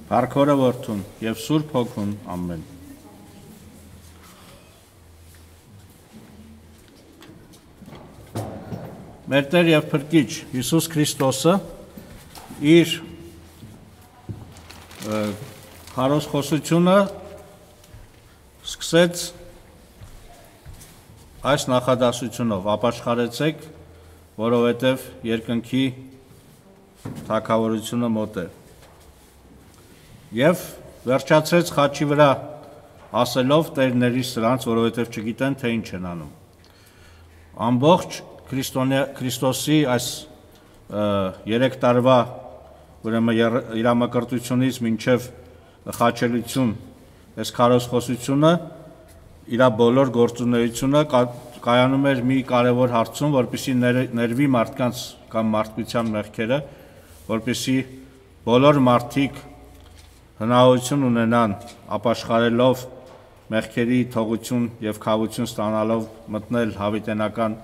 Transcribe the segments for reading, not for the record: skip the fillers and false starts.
Փառքորը Որդուն եւ Սուրբ Հոգուն, ամեն։ Մեր Տեր եւ Փրկիչ Հիսուս Քրիստոսը իր քարոզխոսությունը սկսեց այս նախադասությունով. ապաշխարեցեք, որովհետև երկնքի թագավորությունը մոտ է։ Եվ վերջացրեց խաչի վրա ասելով տերների սրանց, որովհետև չգիտեն, թե ինչ են անում։ Ամբողջ Քրիստոսի այս 3 տարվա իրամակրթությունից մինչև խաչելություն, այս քարոզխոսությունը իր բոլոր գործունեությունը կայանում էր մի կարևոր հարցում, որպեսզի ներվի մարդկանց կամ մարդկության մեղքերը, որպեսզի բոլոր մարդիկ հնարավորություն ունենան ապաշխարելով մեղքերի թողություն եւ քավություն ստանալով մտնել հավիտենական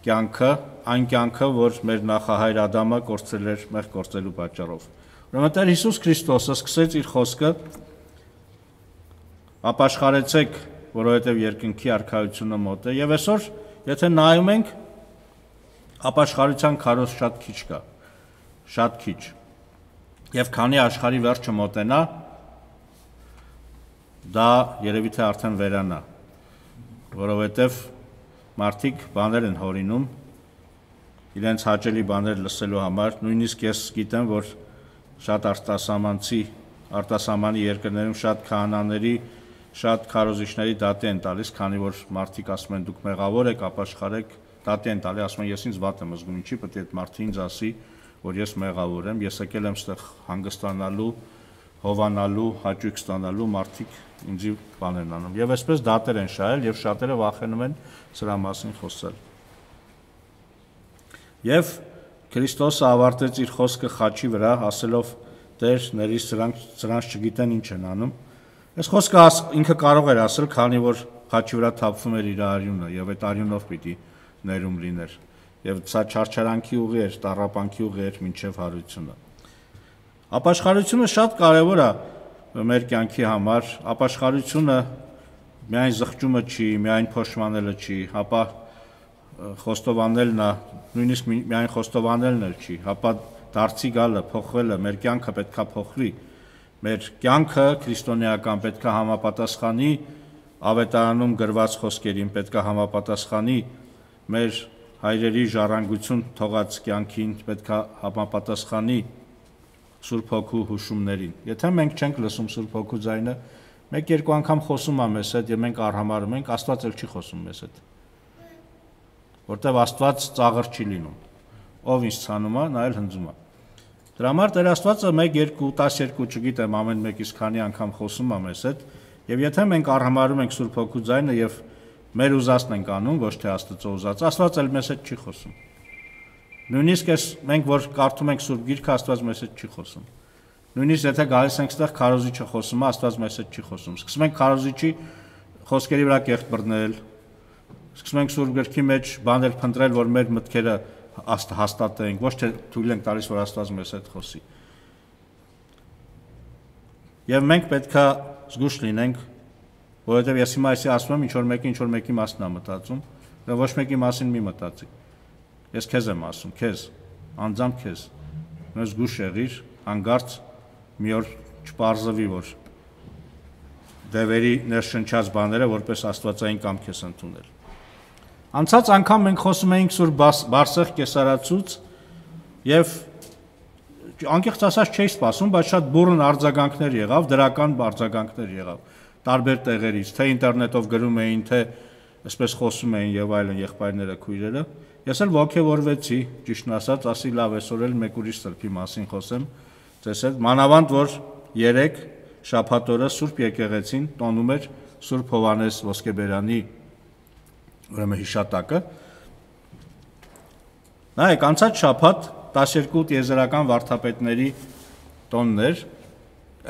կյանքը, այն կյանքը, որ մեր նախահայր Ադամը կորցրել էր մեղք գործելու պատճառով։ Ուրեմն Տեր Հիսուս Քրիստոսը սկսեց իր խոսքը. ապաշխարեցեք, որովհետև երկնքի արքայությունը մոտ է, եւ այսօր, եթե նայում ենք, ապաշխարության քարոզ շատ քիչ կա, շատ քիչ։ Եվ քանի աշխարհի վերջը մոտենա, դա երևի թե արդեն վերանա, որովհետև մարդիկ բաներ են հորինում, իրենց հաճելի բաներ լսելու համար, նույնիսկ ես գիտեմ, որ շատ արտասահմանի երկրներում շատ քահանաների, շատ քարոզիչների դատի են տալիս, քանի որ մարդիկ ասում են դուք մեղավոր եք, ապաշխարեք, դատի են տալի, ասում են ես ինձ վատ եմ զգում, ինչի պետք է այդ մարդը ինձ ասի, որ ես մեղավոր եմ, ես եկել եմ ստեղ հանգստանալու, հովանալու, հաճույք ստանալու, մարդիկ ինձի բաներ են անում։ Եվ այսպես դատեր են շահել եւ շատերը վախենում են սրա մասին խոսել։ Եվ Քրիստոսը ավարտեց իր խոսքը խաչի վրա, ասելով. Տեր, ների սրանց չգիտեն ինչ են անում։ Այս խոսքը ինքը կարող էր ասել, քանի որ խաչի վրա թափվում էր իր արյունը եւ այդ արյունով պիտի ներում լիներ։ Եվ սա չարչարանքի ուղի էր, տառապանքի ուղի էր մինչև հարությունը։ Ապաշխարությունը շատ կարևոր է մեր կյանքի համար, ապաշխարությունը միայն զղջումը չի, միայն փոշմանելը չի, հապա խոստովանելն է, նույնիսկ միայն խոստովանելն էլ չի, հապա դարձի գալը, փոխվելը, մեր կյանքը պետքա փոխվի, մեր կյանքը քրիստոնեական պետքա համապատասխանի ավետարանում գրված խոսքերին, պետքա համապատասխանի մեր հայրերի ժառանգություն թողած կյանքին, պետքա համապատասխանի Սուրբ Հոգու հուշումներին։ Եթե մենք չենք լսում Սուրբ Հոգու ձայնը, մեկ-երկու անգամ խոսում է մեզ հետ եւ մենք արհամարհում ենք, Աստված էլ չի խոսում մեզ հետ։ Որտեւ Աստված ծաղր չի լինում։ Ով ինձ ցանում է, նա էլ հնձում է։ Դրա համար Տեր Աստվածը 1, 2, 12, չգիտեմ, ամեն մեկից քանի անգամ խոսում է մեզ հետ, եւ եթե մենք արհամարհում ենք Սուրբ Հոգու ձայնը եւ մեր ուզածն ենք անում, ոչ թե Աստծո ուզած, Աստված էլ մեզ հետ չի խոսում։ Նույնիսկ ես մենք որ կարդում ենք Սուրբ Գիրքը, Աստված մեզ հետ չի խոսում։ Նույնիսկ եթե գալիս ենք ստեղ քարոզիչը խոսում է, Աստված մեզ հետ չի խոսում։ Սկսում ենք քարոզիչի խոսքերի վրա կեղտ բռնել, սկսում ենք Սուրբ Գրքի մեջ բաներ փնտրել, որ մեր մտքերը հաստատենք, ոչ թե թույլ ենք տալիս, որ Աստված մեզ հետ խոսի։ Եվ մենք պետքա զգուշ լինենք, որովհետև ես հիմա այսի ասում եմ, ինչ որ մեկի մասն է մտածում, და ոչ մեկի մասին մի մտածի։ Ես քեզ եմ ասում, քեզ, անձամբ քեզ։ Մեզ զգուշ եղիր, հանգարց մի օր չպարզվի, որ դևերի ներշնչած բաները որպես աստվածային կամք ես ընդունել։ Անցած անգամ մենք խոսում էինք Սուրբ Բարսեղ կեսարացուց եւ անկեղծ ասած չէի սպասում, բայց շատ բուռն արձագանքներ եղավ, դրական արձագանքներ եղավ տարբեր տեղերից, թե ինտերնետով գրում էին, թե այսպես խոսում էին եւ այլն եղբայրները, քույրերը։ Ես էլ ողջևորվեցի, ճիշտն ասած, ասի լավ, այսօր էլ մեկ ուրիշ սրբի մասին խոսեմ, ձեզ հետ, մանավանդ որ 3 շաբաթ օրը Սուրբ եկեղեցին տոնում էր Սուրբ Հովհաննես Ոսկեբերանի ուրեմն հիշատակը։ Նայեք, անցած շաբաթ 12 տիեզերական վարդապետների տոնն էր,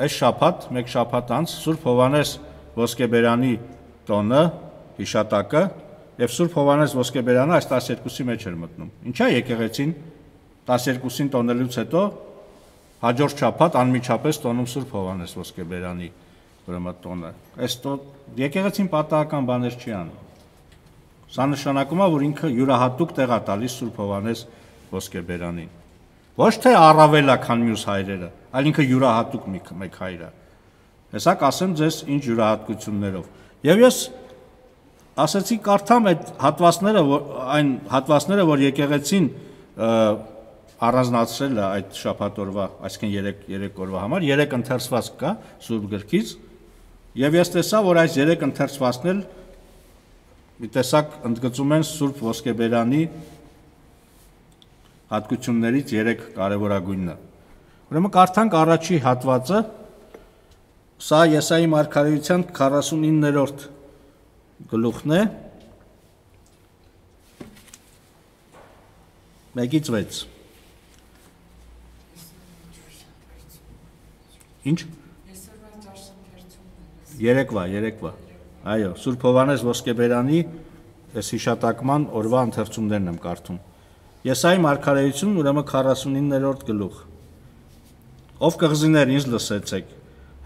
այս շաբաթ, մեկ շաբաթ անց Սուրբ Հովհաննես Ոսկեբերանի տոնը, հիշատակը եւ Սուրբ Հովհաննես Ոսկեբերանը այս 12-ի մեջ էր մտնում։ Ինչա եկեղեցին 12-ին տոնելուց հետո հաջորդ շաբաթ անմիջապես տոնում Սուրբ Հովհաննես Ոսկեբերանի ուրեմն տոնը։ Այս եկեղեցին պատահական բաներ չի անում։ Սա նշանակում է, որ ինքը յուրահատուկ տեղ է տալիս Սուրբ Հովհաննես Ոսկեբերանին։ Ոչ թե առավել է, քան մյուս հայրերը, այլ ինքը յուրահատուկ մեկ հայր է։ Հեսա կասեմ ձեզ ինչ յուրահատկություններով։ Եվ ես ասացի կարդամ այդ հատվածները, այն հատվածները, որ եկեղեցին առանձնացրել է այդ շաբաթօրվա, այսինքն 3 օրվա համար, 3 ընթերցված կա Սուրբ գրքից, եւ ես տեսա, որ այս 3 ընթերցվածն էլ մի տեսակ ընդգծում են Սուրբ Ոսկեբերանի հատկություններից 3 կարևորագույնը։ Ուրեմն կարդանք առաջի հատվածը, սա Եսայի մարգարեության 49-րդ գլուխն է, 1-ից 6։ Ինչ? Երեկվա։ Այո, Սուրբ Հովհաննես Ոսկեբերանի այս հիշատակման օրվա ընթերցումներն եմ կարդում։ Եսայի մարգարեություն, ուրեմն 49-րդ գլուխ։ Ով կղզիներ, ինձ լսեցեք,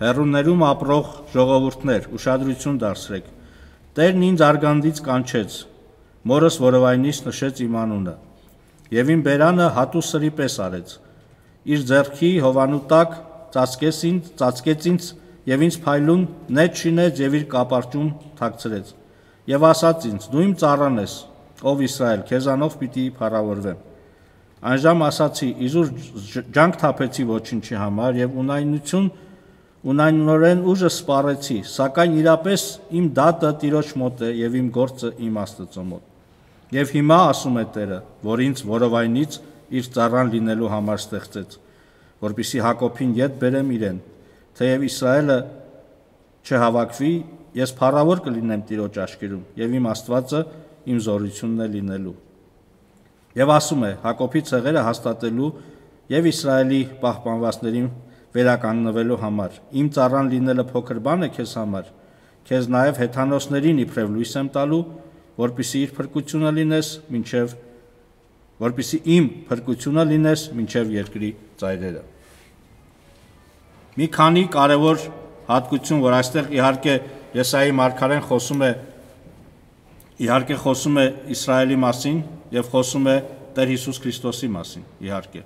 հեռուներում ապրող ժողովուրդներ, ուշադրություն դարձրեք։ Տերն ինձ արգանդից կանչեց, մորս որովայնից նշեց իմ անունը, եւ իմ բերանը հատու սրի պես արեց։ Իր ձեռքի հովանու տակ ծածկեց ինձ եւ ինձ փայլուն նետ շինեց եւ իր կապարճում թաքցրեց։ Եվ ասաց ինձ. դու իմ ծառան ես, ով Իսրայել, քեզանով պիտի փառավորվեմ։ Այնժամ ասացի. իզուր ջանք թափեցի ոչինչի համար եւ ունայնորեն ուժը սպառեցի, սակայն իրապես իմ դատը Տիրոջ մոտ է եւ իմ գործը իմ Աստծո մոտ։ Եվ հիմա ասում է Տերը, որ ինձ որովայնից իր ծառան լինելու համար ստեղծեց, որպեսզի Հակոբին ետ բերեմ իրեն, թեև Իսրայելը չհավաքվի, ես փառավոր կլինեմ Տիրոջ աչքերում, եւ իմ Աստվածը իմ զորությունն է լինելու։ Եվ ասում է. Հակոբի ցեղերը հաստատելու եւ Իսրայելի պահպանվածներին վերականգնվելու համար։ Իմ ծառան լինելը փոքր բան է քեզ համար, քեզ նաեւ հեթանոսներին իբրև լույս եմ տալու, որպեսզի իմ փրկությունը լինես մինչև երկրի ծայրերը։ Մի քանի կարևոր հատկություն, որ այստեղ իհարկե Եսայի մարգարեն խոսում է Իսրայելի մասին եւ խոսում է Տեր Հիսուս Քրիստոսի մասին, իհարկե։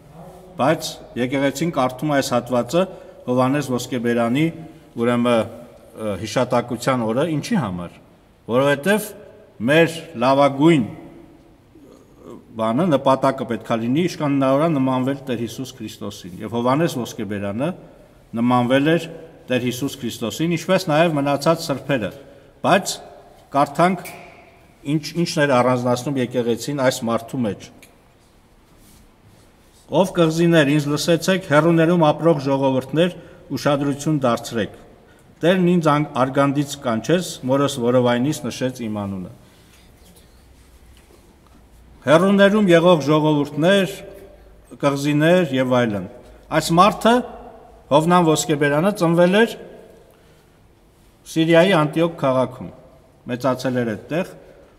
Բայց եկեղեցին կարդում է այս հատվածը Հովհաննես Ոսկեբերանի ուրեմն հիշատակության օրը ինչի համար, որովհետեւ մեր լավագույն բանը նպատակը պետք է լինի իշխանավորան նմանվել Տեր Հիսուս Քրիստոսին եւ Հովհաննես Ոսկեբերանը նմանվել էր Տեր Հիսուս Քրիստոսին, ինչպես նաեւ մնացած սրբերը, բայց կարդանք ինչն էր առանձնացնում եկեղեցին այս մարդու մեջ։ Ով կղզիներ, ինձ լսեցեք, հեռուներում ապրող ժողովուրդներ, ուշադրություն դարձրեք։ Տերն ինձ արգանդից կանչեց, մորս որովայնից նշեց իմ անունը։ Հեռուներում եղող ժողովուրդներ, կղզիներ եւ այլն։ Այս մարդը Հովնան Ոսկեբերանը ծնվել էր Սիրիայի Անտիոք քաղաքում, մեծացել էր այդտեղ,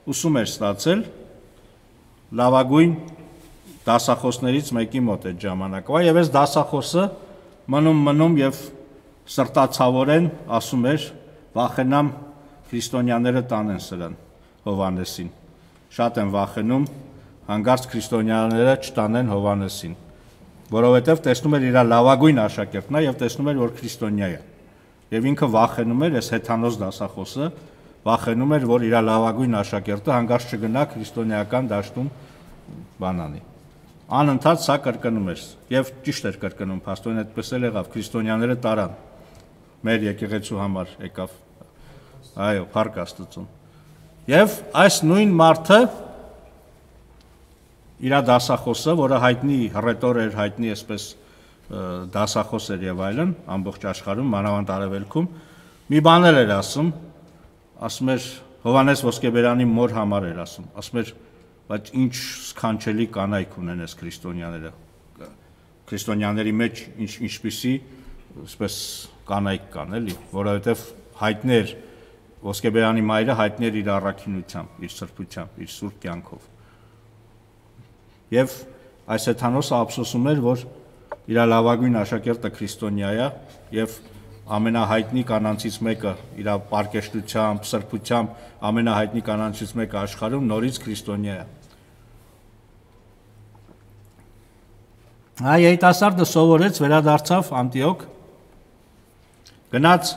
ուսում էր ստացել լավագույն դասախոսներից մեկի մոտ այդ ժամանակվա եւ այս դասախոսը մնում եւ սրտացավորեն ասում էր վախենամ քրիստոնյաները տանեն սրան Հովհաննեսին, շատ են վախենում հանկարծ քրիստոնյաները չտանեն Հովհաննեսին, որովհետև տեսնում էր իր լավագույն աշակերտն է եւ տեսնում էր, որ քրիստոնյա է։ Եվ ինքը վախենում էր, այս հեթանոս դասախոսը վախենում էր, որ իր լավագույն աշակերտը հանկարծ չգնա քրիստոնեական դաշտում բանանի։ Անընդհատ սա կրկնում էր եւ ճիշտ էր կրկնում, փաստորեն այդպես էլ եղավ, քրիստոնյաները տարան։ Մեր եկեղեցու համար եկավ։ Այո, փառք Աստծուն։ Եվ այս նույն մարդը իր դասախոսը, որը հայտնի հռետոր էր, հայտնի այսպես դասախոս էր եւ այլն, ամբողջ աշխարհում, մանավանդ արևելքում, մի բաներ էր ասում էր Հովհաննես Ոսկեբերանի մոր համար էր ասում էր, բայց ինչ սքանչելի կանայք ունեն այս քրիստոնյաները, քրիստոնյաների մեջ ինչպիսի այսպես կանայք կան, էլի, որովհետեւ հայտնի էր Ոսկեբերանի մայրը հայտնի էր իր առաքինությամբ, իր սրբությամբ, իր սուրբ կյանքով։ Եվ այս հեթանոսը ափսոսում էր, որ իր լավագույն աշակերտը քրիստոնյա է եւ ամենահայտնի կանանցից մեկը իր պարկեշտությամբ, սրբությամբ ամենահայտնի կանանցից մեկը աշխարհում նորից քրիստոնյա է։ Այ երիտասարդը սովորեց, վերադարձավ Անտիոք, գնաց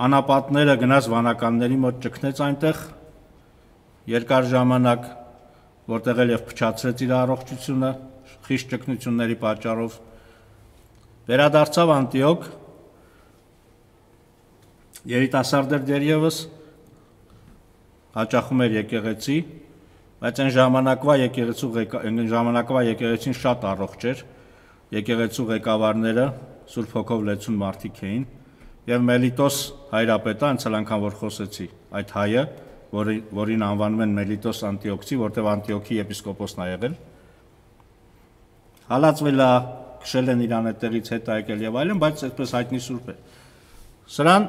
անապատները, գնաց վանականների մոտ, ճգնեց այնտեղ երկար ժամանակ, որտեղ էլ եւ փչացրեց իր առողջությունը խիստ ճգնությունների պատճառով, վերադարձավ Անտիոք, երիտասարդ էր դեռևս, հաճախում էր եկեղեցի, բայց այն ժամանակվա եկեղեցին շատ առողջ էր, եկեղեցու ղեկավարները Սուրբ Հոգով լեցուն մարդիկ էին, եւ Մելիտոս հայրապետը, անցյալ անգամ որ խոսեցի, այդ հայը, որին անվանում են Մելիտոս Անտիոքցի, որտեղ Անտիոքի եպիսկոպոսն է եղել, հալածվել է, քշել են իրան այդտեղից հետ եկել եւ այլն, բայց այդպես հայտնի սուրբ է։ Սրան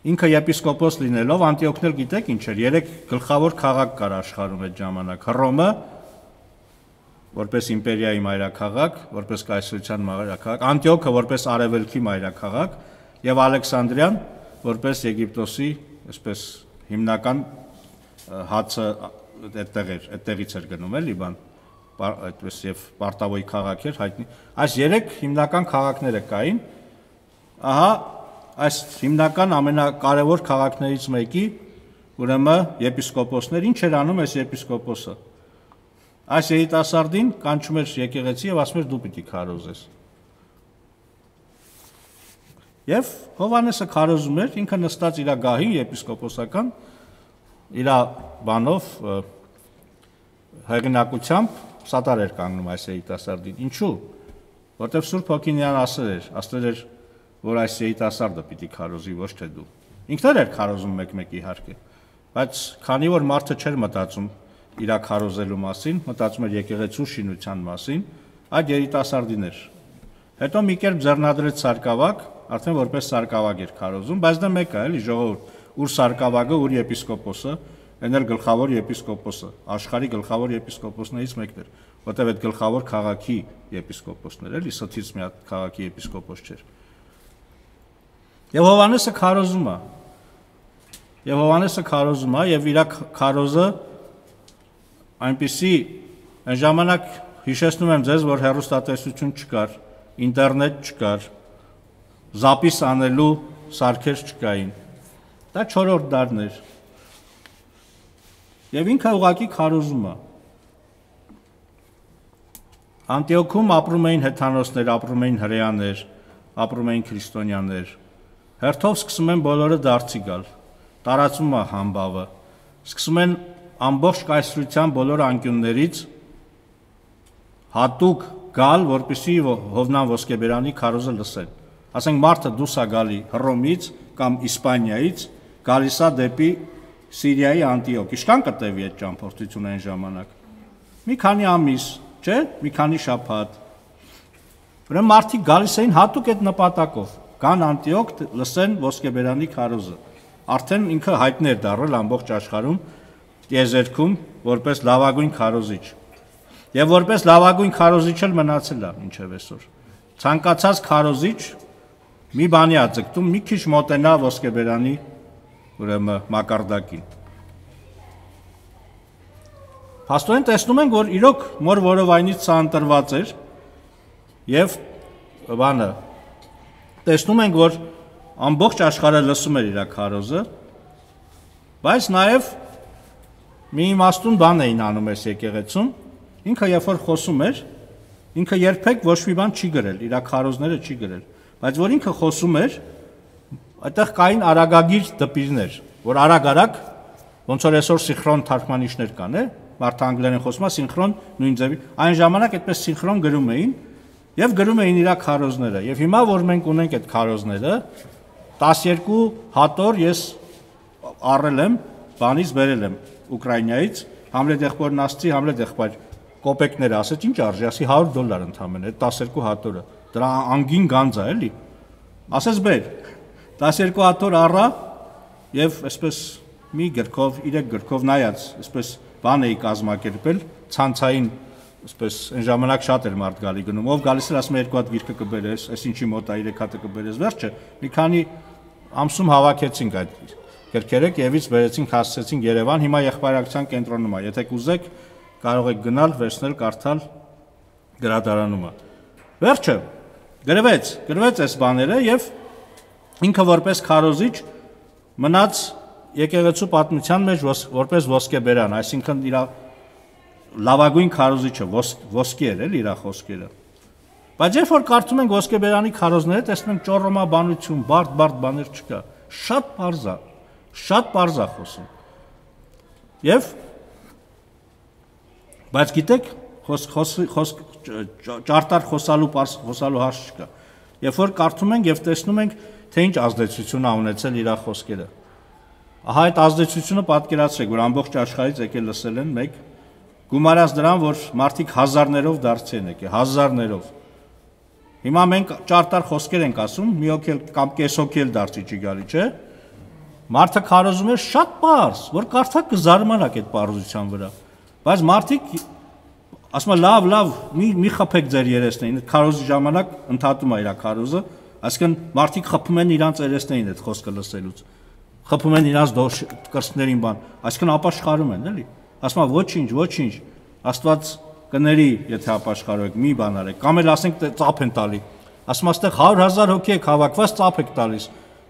ինքը եպիսկոպոս լինելով Անտիոքն էլ գիտեք ինչ էր, 3 գլխավոր քաղաք կար աշխարհում այդ ժամանակ, Հռոմը, որպես իմպերիայի մայրաքաղաք, որպես կայսրության մայրաքաղաք, Անտիոքը որպես արևելքի մայրաքաղաք եւ Ալեքսանդրիան որպես Եգիպտոսի, այսպես հիմնական հացը այդտեղից էր գնում էլի բան, այդպես եւ Պարտավոյի քաղաք էր հայտնի։ Այս 3 հիմնական քաղաքները կային։ Ահա այս հիմնական ամենակարևոր քաղաքներից մեկի ուրեմն եպիսկոպոսներ ինչ էր անում այս եպիսկոպոսը։ Այս երիտասարդին կանչում էր եկեղեցի եւ ասում էր դու պիտի քարոզես։ Եվ Հովհաննեսը քարոզում էր, ինքը նստած իր գահին եպիսկոպոսական իր բանով հեղինակությամբ սատար էր կանգնում այս երիտասարդին։ Ինչու՞։ Որտեվ Սուրբ Հոգին իրան ասել էր, որ այս երիտասարդը պիտի քարոզի, ոչ թե դու։ Ինքն էր քարոզում մեկ-մեկ իհարկե, բայց քանի որ մարդը չէր մտածում իր քարոզելու մասին, մտածում էր եկեղեցու շինության մասին, այդ երիտասարդին էր։ Հետո մի կերպ ձեռնադրեց սարկավակ, արդեն որպես սարկավակ էր քարոզում, բայց դա մեկ է, էլի ժողովուրդ, ուր սարկավակը, ուր եպիսկոպոսը, այն էլ գլխավոր եպիսկոպոսը, աշխարհի գլխավոր եպիսկոպոսներից մեկն էր, որտեղ այդ գլխավոր քաղաքի եպիսկոպոսն էր, էլի սթից մի հատ քաղաքի եպիսկոպոս չէր։ Եվ Հովհաննեսը քարոզում է, եւ իր քարոզը այնպիսի այն ժամանակ հիշեցնում եմ ձեզ, որ հեռուստատեսություն չկար, ինտերնետ չկար, զապիս անելու սարքեր չկային։ Դա 4-րդ դարն էր։ Եվ ինքը ուղղակի քարոզում է։ Անտիոքում ապրում էին հեթանոսներ, ապրում էին հրեաներ, ապրում էին քրիստոնյաներ։ Հերթով սկսում են բոլորը դարձի գալ, տարածում է համբավը, սկսում են ամբողջ կայսրության բոլոր անկյուններից հատուկ գալ, որպեսզի Հովնան Ոսկեբերանի քարոզը լսեն։ Ասենք մարդը դուրս է գալի Հռոմից կամ Իսպանիայից, գալիս է դեպի Սիրիայի Անտիոք։ Ինչքան կտևի այդ ճամփորդությունը այն ժամանակ։ Մի քանի ամիս, չէ՞, մի քանի շաբաթ։ Ուրեմն մարդիկ գալիս էին հատուկ այդ նպատակով, գան Անտիոք լսեն Ոսկեբերանի քարոզը։ Արդեն ինքը հայտնի էր դառել ամբողջ աշխարհում տիեզերքում որպես լավագույն քարոզիչ։ Եվ որպես լավագույն քարոզիչ էլ մնացել է մինչև այսօր։ Ցանկացած քարոզիչ մի բանի է ձգտում, մի քիչ մոտենա Ոսկեբերանի ուրեմն մակարդակին։ Փաստորեն տեսնում ենք, որ իրոք մոր որովայնից սա ընտրված էր եւ բանը տեսնում ենք, որ ամբողջ աշխարհը լսում էր իր քարոզը, բայց նաեւ մի իմաստուն բան էին անում այս եկեղեցում, ինքը երբ որ խոսում էր, ինքը երբեք ոչ մի բան չի գրել, իր քարոզները չի գրել, բայց որ ինքը խոսում էր, այդտեղ կային արագագիր դպիրներ, որ արագ-արագ, ոնց որ այսօր սինխրոն թարգմանիչներ կան, մարդը անգլերեն խոսում է, սինխրոն նույն ձևի, այն ժամանակ այդպես սինխրոն գրում էին եւ գրում էին իր քարոզները, եւ հիմա որ մենք ունենք այդ քարոզները, 12 հատոր ես առել եմ, բանից բերել եմ Ուկրաինայից, Համլետ եղբորն ասացի, Համլետ եղբայր, կոպեկները ասեց, ինչ արժի, ասի $100 ընդամենը, այդ 12 հատորը, դրա անգին գանձ է, էլի։ Ասեց բեր, 12 հատոր առա եւ այսպես մի գրքով, 3 գրքով նայած, այսպես բան էի կազմակերպել, ցանցային Այսպես այն ժամանակ շատ էր մարդ գալի գնում, ով գալիս էր ասում երկու հատ գիրքը կբերես, այս ինչի մոտ է 3 հատը կբերես, վերջը մի քանի ամսում հավաքեցինք այդ գրքերը, Կիևից բերեցինք, հասցրեցինք Երևան, հիմա եղբայրակցության կենտրոնում է, եթե կուզեք կարող եք գնալ, վերցնել, կարդալ գրադարանում է։ Վերջը գրվեց այս բաները եւ ինքը որպես քարոզիչ մնաց եկեղեցու պատմության մեջ որպես ոսկեբերան, այսինքն իր լավագույն քարոզիչը ոսկի էր էլ իր խոսքերը։ Բայց երբ որ կարդում ենք ոսկեբերանի քարոզները, տեսնում ենք ճոռոմաբանություն, բարդ բաներ չկա, շատ պարզ է խոսում։ Եվ բայց գիտեք, ճարտար խոսալու հարց չկա։ Երբ որ կարդում ենք եւ տեսնում ենք, թե ինչ ազդեցություն է ունեցել իր խոսքերը։ Ահա այդ ազդեցությունը պատկերացրեք, որ ամբողջ աշխարհից եկել լսել են մեկ, գումարած դրան, որ մարդիկ հազարներով դարձի են եկել, հազարներով։ Հիմա մենք ճարտար խոսքեր ենք ասում, մի հոգի կամ կես հոգի էլ դարձի չի գալի, չէ՞։ Մարդը քարոզում է շատ պարզ, որ կարդակ կզարմանաք այդ պարզության վրա։ Բայց մարդիկ ասում են լավ, մի խփեք ձեր երեսներին, քարոզի ժամանակ ընդհատում է իր քարոզը, այսինքն մարդիկ խփում են իրանց երեսներին այդ խոսքը լսելուց։ Խփում են իրանց կրծքներին բան, այսինքն ապաշխարում են, էլի։ Ասում են ոչինչ, Աստված կների, եթե ապաշխարեք, մի բան արեք, կամ էլ ասենք ծափ են տալի։ Ասում աստեղ 100,000 հոգի եք հավաքված, ծափ եք տալիս։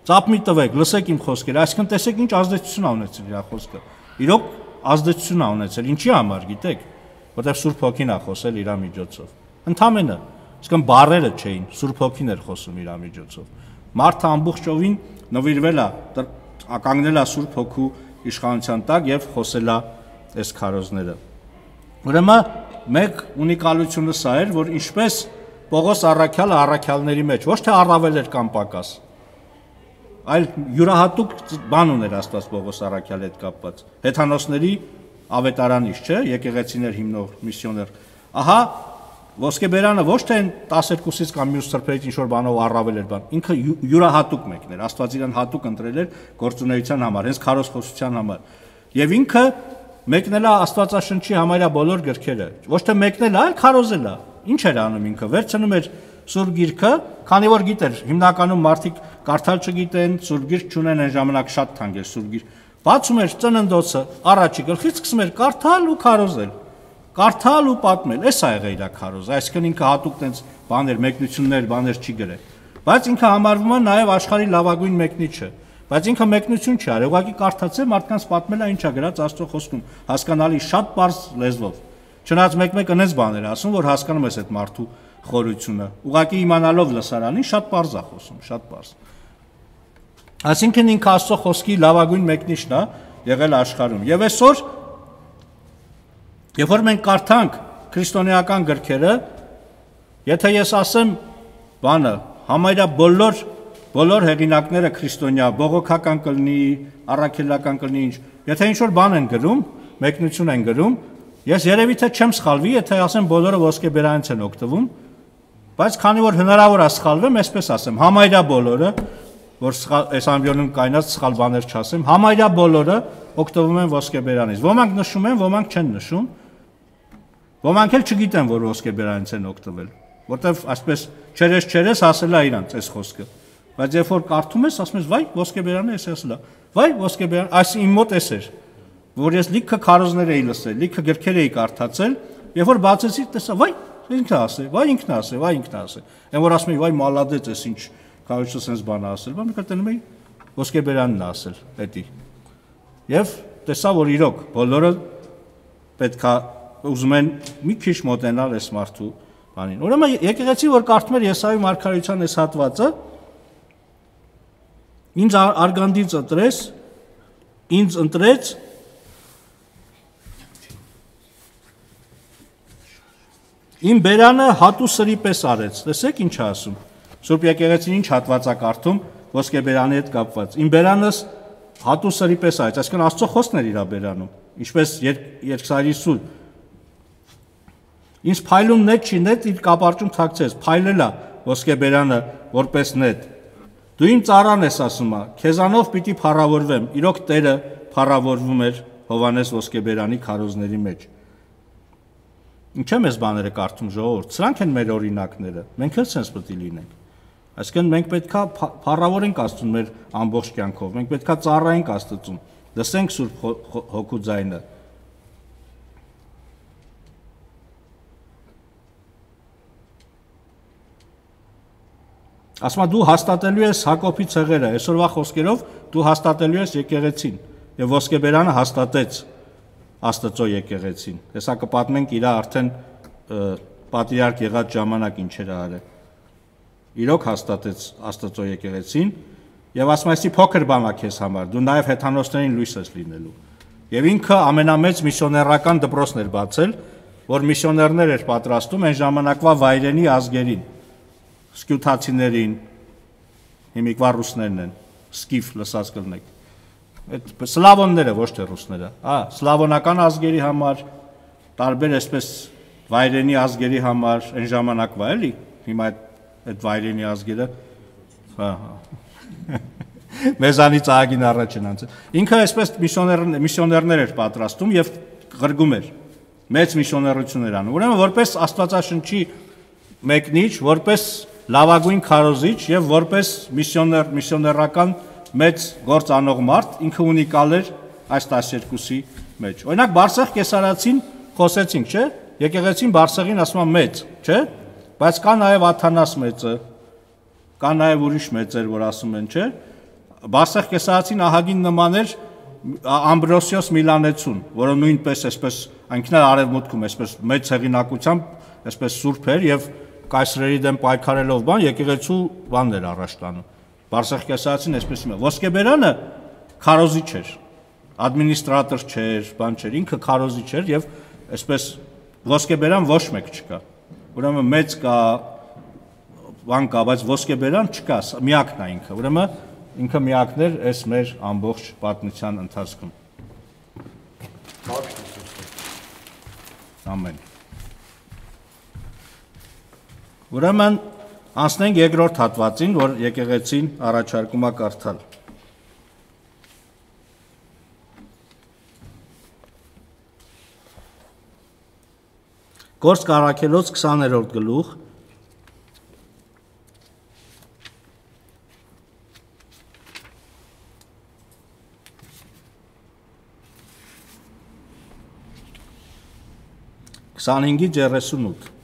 Ծափ մի տվեք, լսեք իմ խոսքերը, այսինքն տեսեք ինչ ազդեցություն ա ունեցել իր խոսքը։ Իրոք ազդեցություն ա ունեցել, ինչի համար, գիտեք, որտեղ Սուրբ Հոգին ա խոսել իր միջոցով։ Ընդամենը, այսինքն բառերը չէին, Սուրբ Հոգին էր խոսում իր միջոցով։ Մարդը ամբողջովին նվիրվել է, կանգնել է Սուրբ Հոգու իշխանության տակ եւ խոսել է այս քարոզները։ Ուրեմն մեկ ունիկալությունը սա էր, որ ինչպես Պողոս առաքյալը առաքյալների մեջ ոչ թե առավել էր կամ պակաս, այլ յուրահատուկ բան ուներ Աստված Պողոս առաքյալի հետ կապված։ Հեթանոսների ավետարանից, չէ, եկեղեցիներ հիմնող միսիոներ։ Ահա ոսկեբերանը ոչ թե 12-ից կամ մյուս սրբերից ինչ որ բանով առավել էր բան, ինքը յուրահատուկ մեկն էր, Աստված իրան հատուկ ընտրել էր գործունեության համար, հենց քարոզխոսության համար։ Եվ ինքը մեկնել է Աստվածաշնչի համարյա բոլոր գրքերը, ոչ թե մեկնել է, այլ քարոզել է։ Ինչ էր անում ինքը, վերցնում էր Սուրբ Գիրքը, քանի որ գիտեր, հիմնականում մարդիկ կարդալ չգիտեն, Սուրբ Գիրք չունեն, այն ժամանակ շատ թանկ էր Սուրբ Գիրք։ Բացում էր ծննդոցը, առաջի գլխից սկսում էր կարդալ ու քարոզել։ Կարդալ ու պատմել, էս ա եղել իր քարոզը, այսինքն ինքը հատուկ տենց բաներ, մեկնություններ, բաներ չի գրել։ Բայց ինքը համարվում է նաև աշխարհի լավագույն մեկնիչը։ Բայց ինքը մեկնություն չի արել, ուղղակի կարդացել, մարդկանց պատմել է ինչ ա գրած Աստծո խոսքում, հասկանալի շատ པարզ լեզվով։ Չնայած մեկ այնպես բաներ ասում, որ հասկանում ես այդ մարդու խորությունը։ Ուղղակի իմանալով լսարանին շատ པարզ է խոսում, շատ པարզ։ Այսինքն ինքը Աստծո խոսքի լավագույն մեկնիչն է եղել աշխարհում։ Եվ այսօր երբ որ մենք կարդանք քրիստոնեական գրքերը, եթե ես ասեմ բանը, համարյա բոլոր հեղինակները քրիստոնյա, բողոքական կլինի, առաքելական կլինի ինչ, եթե ինչ-որ բան են գրում, մեկնություն են գրում, ես երևի թե չեմ սխալվի, եթե ասեմ բոլորը ոսկեբերանից են օգտվում, բայց քանի որ հնարավոր է սխալվեմ, այսպես ասեմ, համարյա բոլորը, որ այս ամբիոնում կայնած սխալ բաներ չասեմ, համարյա բոլորը օգտվում են ոսկեբերանից։ Ոմանք նշում են, ոմանք չեն նշում, ոմանք էլ չգիտեն, որ ոսկեբերանից են օգտվել, որտեվ այսպես չերես ասել է իրանց այս խոսքը։ Բայց երբ որ կարդում ես, ասում ես, վայ, ոսկեբերանը էս ասել է։ Վայ, ոսկեբերան, այս իմ մոտ էս էր, որ ես լիքը քարոզներ էի լսել, լիքը գրքեր էի կարդացել, երբ որ բացեցի, տեսա, վայ, ինքն է ասել, վայ, ինքն է ասել։ Այն որ ասում եմ, վայ, մալադեց, էս ինչ քարոզը sense բան է ասել, բայց մի քիչ տենում էի ոսկեբերանն է ասել, էդի։ Եվ տեսա, որ իրոք բոլորը պետքա ուզում են մի քիչ մոտենալ այս մարդու բանին։ Ուրեմն եկեղեցի, որ կարդում էր Եսայի մարգարեության այս հատվածը, ինձ արգանդից ընտրեց, ինձ ընտրեց իմ բերանը հատու սրի պես արեց, տեսեք ինչ է ասում, Սուրբ եկեղեցին ինչ հատված է կարդում ոսկեբերանի հետ կապված, իմ բերանս հատու սրի պես արեց, այսինքն Աստծո խոսքն էր իր բերանում, ինչպես երկսայրի սուր, ինձ փայլում նետ չի, նետ իր կապարճում թաքցեց, փայլել է ոսկեբերանը որպես նետ, դու իմ ծառան ես ասում է, քեզանով պիտի փառավորվեմ, իրոք Տերը փառավորվում էր Հովանես ոսկեբերանի քարոզների մեջ։ Ինչ է մեզ բաները կարդում ժողովուրդ, սրանք են մեր օրինակները, մենք էլ sense պետք է լինենք։ Այսինքն մենք պետքա փառավորենք Աստծուն մեր ամբողջ կյանքով, մենք պետքա ծառայենք Աստծուն, լսենք Սուրբ Հոգու ձայնը։ Ասма դու հաստատելու ես Հակոբի ցեղերը, այսօրվա խոսքերով դու հաստատելու ես եկեղեցին, եւ ոսկեբերանը հաստատեց Աստծո եկեղեցին։ Հեսա կպատմենք իր արդեն պատրիարք եղած ժամանակ ինչեր արել։ Իրոք հաստատեց Աստծո եկեղեցին եւ ասում այսի փոքր բան է քեզ համար, դու նաեւ հեթանոսներին լույս ես լինելու։ Եվ ինքը ամենամեծ միսիոներական դպրոցն էր բացել, որ միսիոներներ էր պատրաստում այն ժամանակվա վայրենի ազգերին, սկյութացիներին, հիմիկվա ռուսներն են, սկիֆ լսած կլնեք։ Այդ սլավոնները ոչ թե ռուսները, սլավոնական ազգերի համար, տարբեր այսպես վայրենի ազգերի համար այն ժամանակվա էլի, հիմա այդ վայրենի ազգերը մեզանից ահագին առաջ են անցել։ Ինքը այսպես միսիոներներ էր պատրաստում եւ ղրգում էր, մեծ միսիոներություն էր անում։ Ուրեմն որպես Աստվածաշնչի մեկնիչ, որպես լավագույն քարոզիչ եւ որպես միսիոներական մեծ գործ անող մարդ, ինքը ունիկալ էր այս 12-ի մեջ։ Օրինակ Բարսեղ Կեսարացին խոսեցինք, չէ՞։ Եկեղեցին Բարսեղին ասում է մեծ, չէ՞։ Բայց կա նաեւ Աթանաս մեծը, կա նաեւ ուրիշ մեծեր, որ ասում են, չէ՞։ Բարսեղ Կեսարացին ահագին նման էր Ամբրոսիոս Միլանեցուն, որը նույնպես այսպես այնքան արևմուտքում այսպես մեծ հեղինակությամբ այսպես սուրբ էր եւ կայսրերի դեմ պայքարելով բան եկեղեցու բանն էր առաջ տանում։ Բարսեղ Կեսարացին այսպես իմը ոսկեբերանը քարոզիչ էր, ադմինիստրատոր չէր, բան չէր, ինքը քարոզիչ էր եւ այսպես ոսկեբերան ոչ մեկ չկա։ Ուրեմն մեծ կա, բան կա, բայց ոսկեբերան չկա, միակն է ինքը։ Ուրեմն ինքը միակն էր այս մեր ամբողջ պատմության ընթացքում։ Ամեն։ Ուրեմն անցնենք երկրորդ հատվածին, որ եկեղեցին առաջարկում է կարդալ։ Գործք Առաքելոց 20-րդ գլուխ Քսանհինգից 38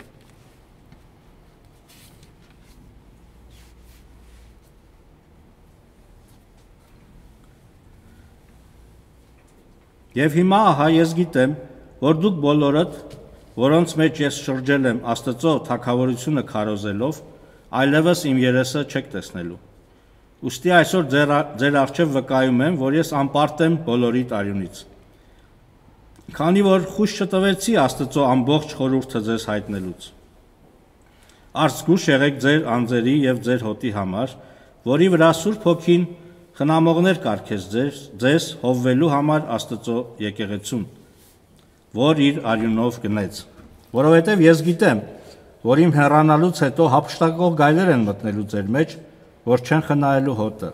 Եվ հիմա ահա ես գիտեմ, որ դուք բոլորդ, որոնց մեջ ես շրջել եմ Աստծո թագավորությունը քարոզելով, այլևս իմ երեսը չեք տեսնելու։ Ուստի այսօր ձեր առջև վկայում եմ, որ ես անպարտ եմ բոլորի տարյունից։ Քանի որ խույս չտվեցի Աստծո ամբողջ խորհուրդը ձեզ հայտնելուց։ Արծգուշ եղեք ձեր անձերի եւ ձեր հոտի համար, որի վրա Սուրբ Հոգին խնամողներ կարգեց ձեզ հովվելու համար Աստծո եկեղեցուն, որ իր արյունով գնեց, որովհետև ես գիտեմ, որ իմ հեռանալուց հետո հափշտակող գայլեր են մտնելու ձեր մեջ, որ չեն խնայելու հոտը,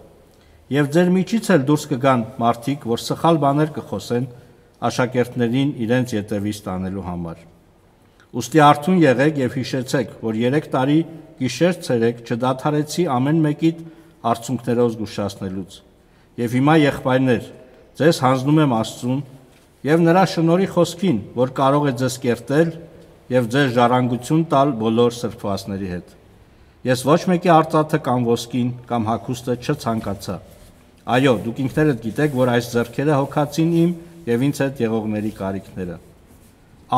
եւ ձեր միջից էլ դուրս կգան մարդիկ, որ սխալ բաներ կխոսեն աշակերտներին իրենց ետևից տանելու համար։ Ուստի արթուն եղեք եւ հիշեցեք, որ 3 տարի գիշեր ցերեկ չդադարեցի ամեն մեկիդ արցունքներով զգուշացնելուց։ Եվ հիմա եղբայրներ, ձեզ հանձնում եմ Աստծուն եւ նրա շնորհի խոսքին, որ կարող է ձեզ կերտել եւ ձեր ժառանգություն տալ բոլոր սրբվածների հետ։ Ես ոչ մեկի արծաթը կամ ոսկին կամ հագուստը չցանկացա։ Այո, դուք ինքներդ գիտեք, որ այս ձեռքերը հոգացին իմ եւ ինձ հետ եղողների կարիքները։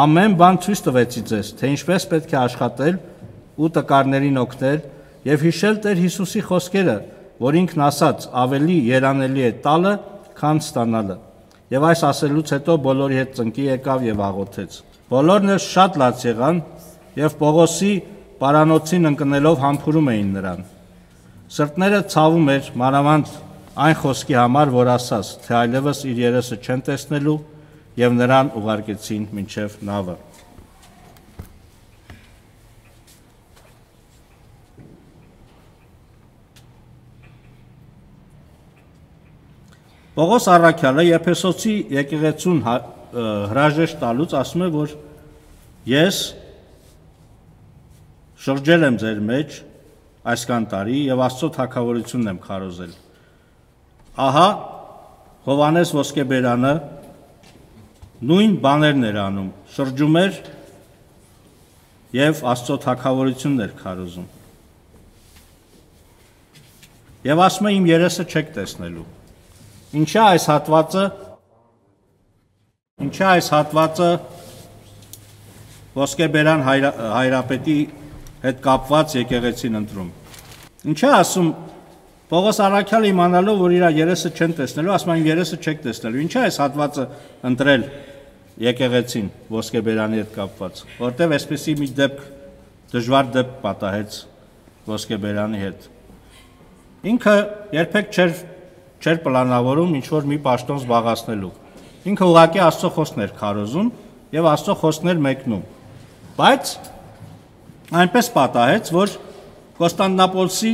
Ամեն բան ցույց տվեցի ձեզ, թե ինչպես պետք է աշխատել ու տկարներին օգնել եւ հիշել Տեր Հիսուսի խոսքերը, որ ինքն ասաց, ավելի երանելի է տալը, քան ստանալը։ Եվ այս ասելուց հետո բոլորի հետ ծնկի եկավ եւ աղոթեց։ Բոլորն էլ շատ լաց եղան եւ Պողոսի պարանոցին ընկնելով համբուրում էին նրան։ Սրտները ցավում էր մանավանդ այն խոսքի համար, որ ասաց, թե այլևս իր երեսը չեն տեսնելու եւ նրան ուղարկեցին մինչեւ նավը։ Պողոս առաքյալը Եփեսոցի եկեղեցուն հրաժեշտ տալուց ասում է, որ Ես շրջել եմ ձեր մեջ այսքան տարի եւ Աստծո թագավորությունն եմ քարոզել։ Ահա Հովհաննես Ոսկեբերանը նույն բաներն էր անում, շրջում էր եւ Աստծո թագավորությունն էր քարոզում։ Եվ ասում է իմ երեսը չեք տեսնելու։ Ինչա այս հատվածը Ոսկեբերան հայրապետի հետ կապված եկեղեցին ընտրում։ Ինչա ասում Պողոս առաքյալը իմանալով, որ իր երեսը չեն տեսնելու, ասում է իմ երեսը չեք տեսնելու։ Ինչա այս հատվածը ընտրել եկեղեցին Ոսկեբերանի հետ կապված, որտեղ այսպեսի մի դժվար դեպք պատահեց Ոսկեբերանի հետ։ Ինքը երբեք չէր պլանավորում ինչ-որ մի պաշտոն զբաղացնելու։ Ինքը ուղղակի Աստծո խոսքն էր քարոզում եւ Աստծո խոսքն էր մեկնում։ Բայց այնպես պատահեց, որ Կոստանդնապոլսի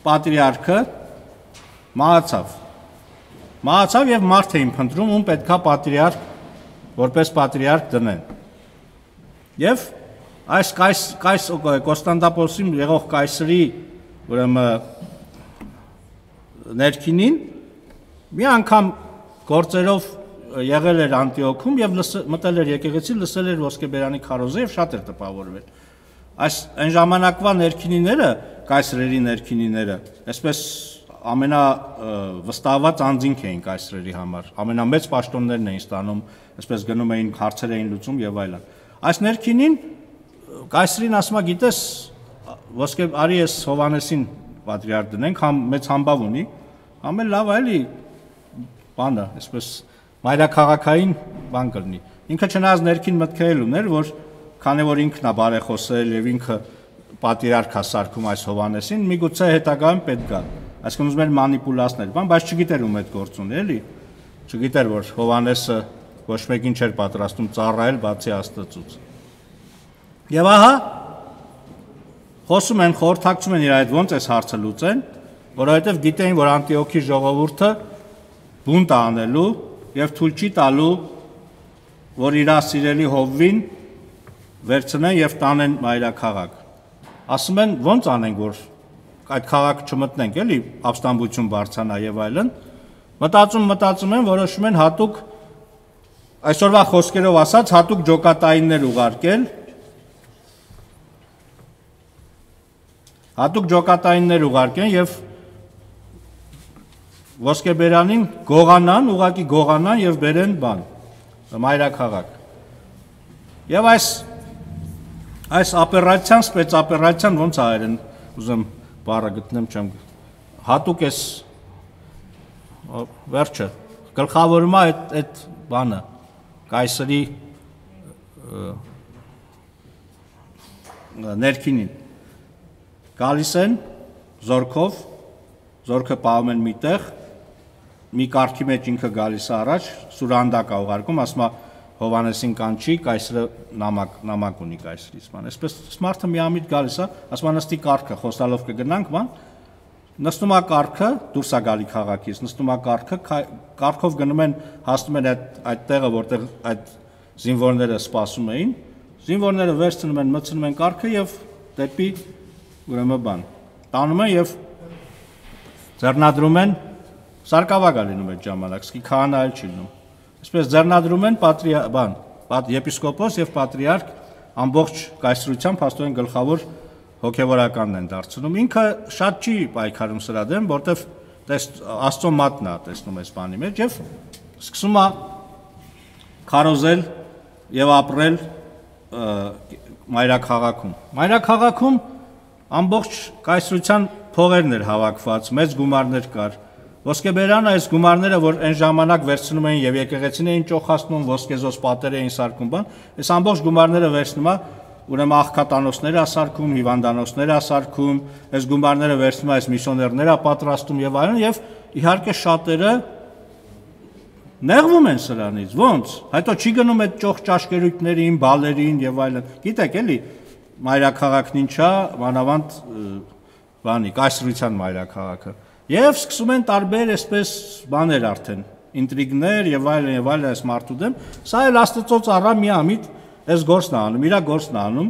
պատրիարքը մահացավ եւ մարդ էին փնտրում, ում պետքա որպես պատրիարք դնեն։ Եվ այս Կոստանդնապոլսի եղող կայսրի ուրեմն ներքինին մի անգամ գործերով եղել էր Անտիոքում եւ մտել էր եկեղեցի, լսել էր Ոսկեբերանի քարոզը եւ շատ էր տպավորվել։ Այն ժամանակվա ներքինիները, կայսրերի ներքինիները, այսպես ամենավստահված անձինք էին կայսրերի համար, ամենամեծ պաշտոններն էին ստանում, այսպես գնում էին հարցեր էին լուծում եւ այլն։ Այս ներքինին կայսրին ասում է, գիտես, արի ես Հովհաննեսին պատրիարք դնենք, մեծ համբավ ունի, ամեն լավ էլի բանը, այսպես մայրաքաղաքային բան կլինի։ Ինքը չնայած ներքին մտքը ուներ, որ քանի որ ինքն է բարեխոսել եւ ինքը պատրիարք է սարքում այս Հովհաննեսին, միգուցե հետագայում պետք է, այսինքն ուզում էր մանիպուլացնել, բայց չգիտեր ում այդ գործ ունի, էլի։ Չգիտեր, որ Հովհաննեսը ոչ մեկին չէր պատրաստում ծառայել, բացի Աստծուց։ Եվ ահա խոսում են, խորհրդակցում են իր այդ ոնց այս հարցը լուծեն, որովհետև գիտեին, որ Անտիոքի ժողովուրդը բունտ է անելու եւ թույլ չի տալու, որ իր սիրելի Հովվին վերցնեն եւ տանեն մայրաքաղաք։ Ասում են, ոնց անենք, որ այդ քաղաքը չմտնենք, էլի, ապստամբություն բարձրանա եւ այլն։ Մտածում են, որոշում են հատուկ այսօրվա խոսքերով ասած, հատուկ ջոկատայիններ ուղարկեն եւ Ոսկեբերանին ուղղակի գողանան եւ բերեն բան, մայրաքաղաք։ Եվ այս օպերացիան, սպեցօպերացիան ոնց արեն, ուզեմ բառը գտնեմ, չեմ հատուկ էս վերջը գլխավորում է այդ բանը կայսրի ներքինին գալիս են զորքով, զորքը պահում են միտեղ, մի կարգի մեջ ինքը գալիս է առաջ, սուրանդակ է ուղարկում, ասում է Հովհաննեսին կանչի, կայսրը նամակ ունի կայսրից, ման, այսպես մարդը միամիտ գալիս է, ասում է նստի կարգը, խոստալով կգնանք, ման, նստում է կարգը, դուրս է գալի քաղաքից, նստում է կարգով գնում են, հասնում են այդ տեղը, որտեղ այդ զինվորները սպասում էին, զինվորները վերցնում են, մտցնում են կարգը եւ դեպի ուրեմն բան, տանում են եւ ձեռնադրում են, սարկավագ է լինում այդ ժամանակ, սկի քահանա էլ չի լինում, այսպես ձեռնադրում են եպիսկոպոս եւ պատրիարք ամբողջ կայսրությամբ հաստատեն գլխավոր հոգևորականն են դարձնում, ինքը շատ չի պայքարում սրա դեմ, որտեվ Աստծո մատն է տեսնում այս բանի մեջ եւ սկսում է քարոզել եւ ապրել մայրաքաղաքում ամբողջ կայսրության փողերն էր հավաքված, մեծ գումարներ կար։ Ոսկեբերանը այս գումարները, որ այն ժամանակ վերցնում էին եւ եկեղեցին էին ճոխացնում, ոսկեզոս պատեր էին սարքում բան, այս ամբողջ գումարները վերցնում է, ուրեմն աղքատանոցներ է սարքում, հիվանդանոցներ է սարքում, այս գումարները վերցնում է այս միսիոներներ է պատրաստում եւ այլն եւ իհարկե շատերը նեղվում են սրանից, ոնց։ Հետո չի գնում այդ ճոխ ճաշկերույթներին, բալերին եւ այլն։ Գիտեք էլի, մայրաքաղաքն ինչա, մանավանդ բանի, կայսրության մայրաքաղաքը։ Եվ սկսում են տարբեր այսպես բաներ արդեն, ինտրիգներ եւ այլն այս մարդու դեմ, սա էլ Աստծո ծառա միամիտ այս գործն է անում, իր գործն է անում,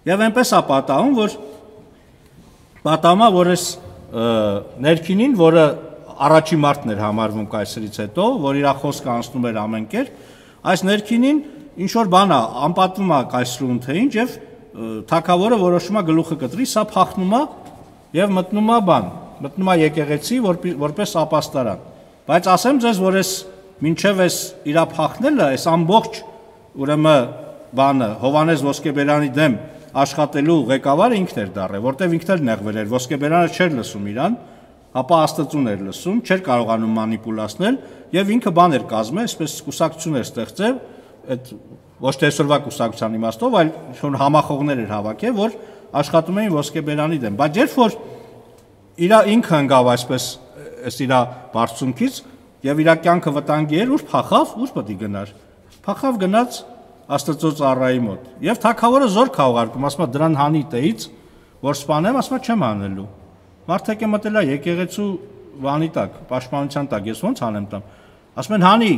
եւ այնպես է պատահում, որ այս ներքինին, որը առաջի մարդն էր համարվում կայսրից հետո, որ իր խոսքը անցնում էր ամեն կերպ, այս ներքինին ինչ որ բան է, անպատվում է կայսրուն թե ինչ, եւ թագավորը որոշում է գլուխը կտրի, սա փախնում է եւ մտնում է եկեղեցի որպես ապաստարան։ Բայց ասեմ ձեզ, որ այս մինչև այս իր փախնելը, այս ամբողջ ուրեմն բանը Հովանես Ոսկեբերյանի դեմ աշխատելու ղեկավարը ինքն էր դառել, որտեվ ինքն էլ նեղվել էր, Ոսկեբերյանը չէր լսում իրան, ապա Աստծուն էր լսում, չէր կարողանում մանիպուլացնել եւ ինքը բան էր կազմել, այսպես կուսակցություն էր ստեղծել, այդ ոչ թե այսօրվա կուսակցության իմաստով, այլ շոն համախոհներ էր հավաքել, որ աշխատում էին Ոսկեբերյանի դեմ, բայց երբ որ ինքը ընկավ այսպես այս իր բարձունքից եւ իր կյանքը վտանգի էր, ուր փախավ, ուր պետք է գնար։ Փախավ գնաց Աստծո ծառայի մոտ։ Եվ թագավորը զոր քաղարկում, ասում է դրան հանի տեից, որ սպանեմ, ասում է չեմ անելու։ Մարդիկ է մտել է եկեղեցու վանի տակ, պաշտպանության տակ, ես ոնց անեմ տամ։ Ասում են հանի,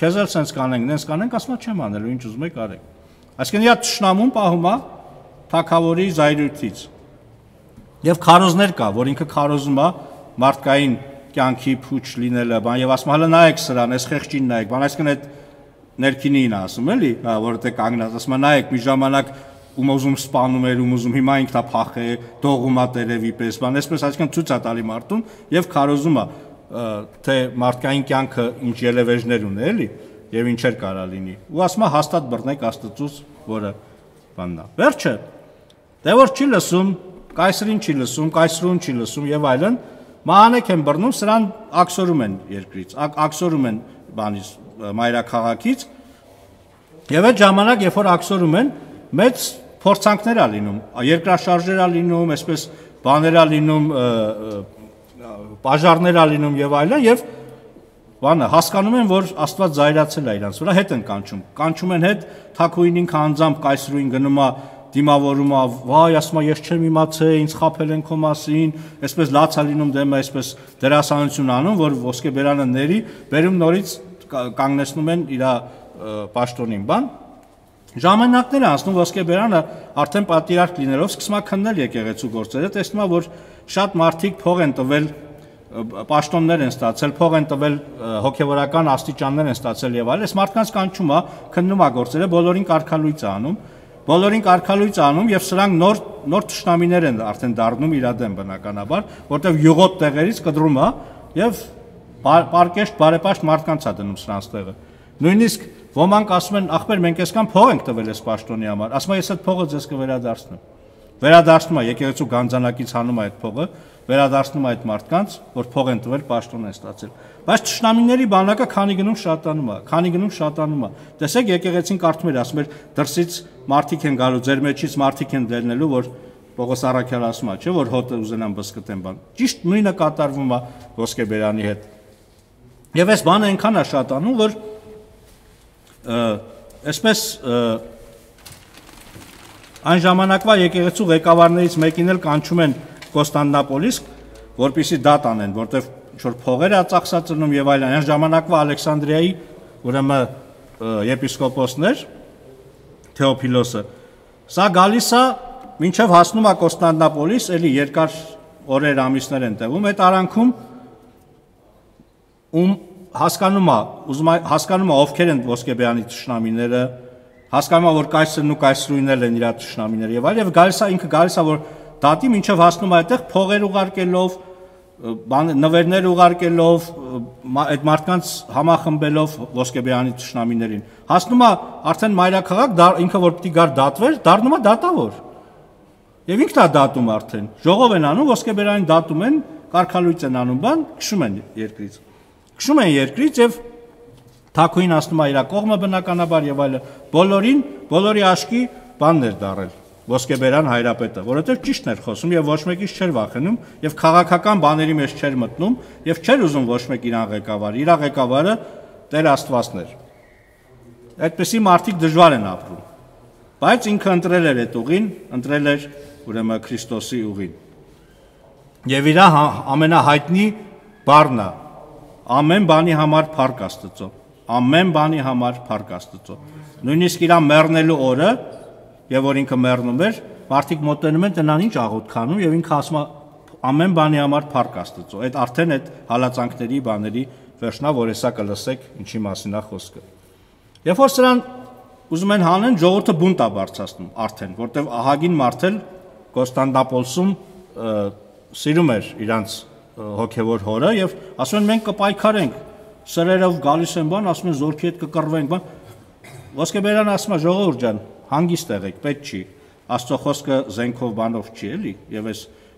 քեզ էլ սենց կանենք, նենց կանենք, ասում է չեմ անելու, ինչ ուզում եք արեք։ Այսինքն իր թշնամուն պահում է թագավորի զայրույթից։ Եվ քարոզներ կա, որ ինքը քարոզում է մարդկային կյանքի փուչ լինելը, բան եւ ասում հələ նայեք սրան, այս խեղճին նայեք, բան այսինքն այդ ներքինին ասում էլի, որտեղ կանգնած, ասում է նայեք մի ժամանակ ում ուզում սպանում էր, ում ուզում հիմա ինքն է փախե, դողում է տերևի պես, բան այսպես այսինքն ցույց է տալի մարդուն եւ քարոզում է թե մարդկային կյանքը ինչ ելևեժներ ունի էլի եւ ինչեր կարա լինի։ Ու ասում է հաստատ բռնեք Աստծուց, որը բանն է։ Վերջը դե որ չի լսում, կայսրին չի լսում, կայսրուն չի լսում եւ այլն, մահանեք են բռնում, սրան աքսորում են երկրից, աքսորում են բանից մայրաքաղաքից եւ այդ ժամանակ երբ որ աքսորում են մեծ փորձանքներ ա լինում երկրաշարժեր ա լինում այսպես բաներ ա լինում բաժարներ ա լինում եւ այլն եւ բանը հասկանում են որ Աստված զայրացել է իրանց վրա հետ են կանչում են հետ թագուհին ինքը անձամբ կայսրուին գնում է դիմավորում է վայ ասում է ես չեմ իմացել ինձ խաբել են քո մասին այսպես լաց ա լինում դեմը այսպես դերասանություն անում որ Ոսկեբերյանը ների բերում նորից կանգնեցնում են իր պաշտոնին բան ժամանակներ անցնում Ոսկեբերյանը արդեն պատիրարք լինելով սկսում է քննել եկեղեցու գործերը տեսնում է որ շատ մարդիկ փող են տվել պաշտոններ են ստացել փող են տվել հոգևորական աստիճաններ են ստացել եւ այլն այս մարդկանց կանչում է քննում է գործերը բոլորին կարգալույծ է անում եւ սրանք նոր թշնամիներ են արդեն դառնում իր դեմ բնականաբար որտեղ յուղոտ տեղերից կդրում է եւ պարկեշտ բարեպաշտ մարդկանց է դնում սրանց տեղը նույնիսկ ոմանք ասում են ախպեր մենք այսքան փող ենք տվել այս պաշտոնի համար ասում է ես այդ փողը ձեզ կվերադարձնեմ է եկեղեցու գանձանակից հանում է այդ փողը վերադարձնում է այդ մարդկանց որ փող են տվել պաշտոն են ստացել բայց թշնամիների բանակը քանի գնում շատանում է տեսեք եկեղեցին կարդում էր ասում էր դրսից մարդիկ են գալու ձեր մեջից մարդիկ են դելնելու որ Պողոս Առաքյալը ասում է չէ որ հոտը ուզենան բսկտեն բան ճիշտ նույնը կատարվում է Ոսկեբերյանի հետ եւ այս բանը այնքան է շատանում որ այսպես այն ժամանակվա եկեղեցու ղեկավարներից մեկին էլ կանչում են Կոստանդնապոլիս, որպեսզի դատ անեն, որտեղ ինչ-որ փողեր է ծախսածնում եւ այլն, այն ժամանակվա Ալեքսանդրիայի ուրեմն եպիսկոպոսներ Թեոփիլոսը։ Սա գալիս է մինչև հասնում է Կոստանդնապոլիս, էլի երկար օրեր ամիսներ են տևում, այդ արանքում հասկանում է ովքեր են Ոսկեբերյանի թշնամիները, հասկանում է որ կայսրն ու կայսրուհիներն են իր թշնամիները եւ այլն եւ գալիս է որ դատի մինչև հասնում է այդտեղ փողեր ուղարկելով, նվերներ ուղարկելով, այդ մարդկանց համախմբելով Ոսկեբերյանի թշնամիներին։ Հասնում է արդեն մայրաքաղաք, ինքը որ պիտի գար դատվեր, դառնում է դատավոր։ Եվ ինքն է դատում արդեն։ Ժողով են անում, Ոսկեբերյանին դատում են, կարգալույծ են անում, բան, քշում են երկրից եւ թագուհին ասնում է իր կողմը բնականաբար եւ այլն։ Բոլորի աշկի բանն էր դարել։ Ոսկեբերյան հայրապետը, որովհետև ճիշտն էր խոսում եւ ոչ մեկից չէր վախենում եւ քաղաքական բաների մեջ չէր մտնում եւ չէր ուզում ոչ մեկ իրան ղեկավար։ Իր ղեկավարը Տեր Աստվածն էր։ Այդպեսի մարդիկ դժվար են ապրում։ Բայց ինքը ընտրել էր այդ ուղին, ընտրել էր ուրեմն Քրիստոսի ուղին։ Եվ իր ամենահայտնի բառն է. ամեն բանի համար փառք Աստծո։ ամեն բանի համար փառք Աստծո։ Նույնիսկ իր մեռնելու օրը, եւ որ ինքը մեռնում էր, մարդիկ մոտենում են տնան ինչ աղոթք անում եւ ինքը ասում է ամեն բանի համար փառք Աստծո։ Այդ արդեն այդ հալածանքների բաների վերջնա, որ հեսա կլսեք ինչի մասին է խոսքը։ Երբ որ սրան ուզում են հանեն, ժողովուրդը բունտ է բարձրացնում արդեն, որտեվ ահագին մարդ էլ Կոստանդնապոլսում սիրում էր իրանց հոգևոր հորը եւ ասում են մենք կպայքարենք, սրերով գալիս են բան, ասում են զորքի հետ կկռվենք, բան։ Ոսկեբերյանը ասում է ժողովուրդ ջան, հանգիստ եղեք, պետք չի։ Աստծո խոսքը զենքով բանով չի էլի,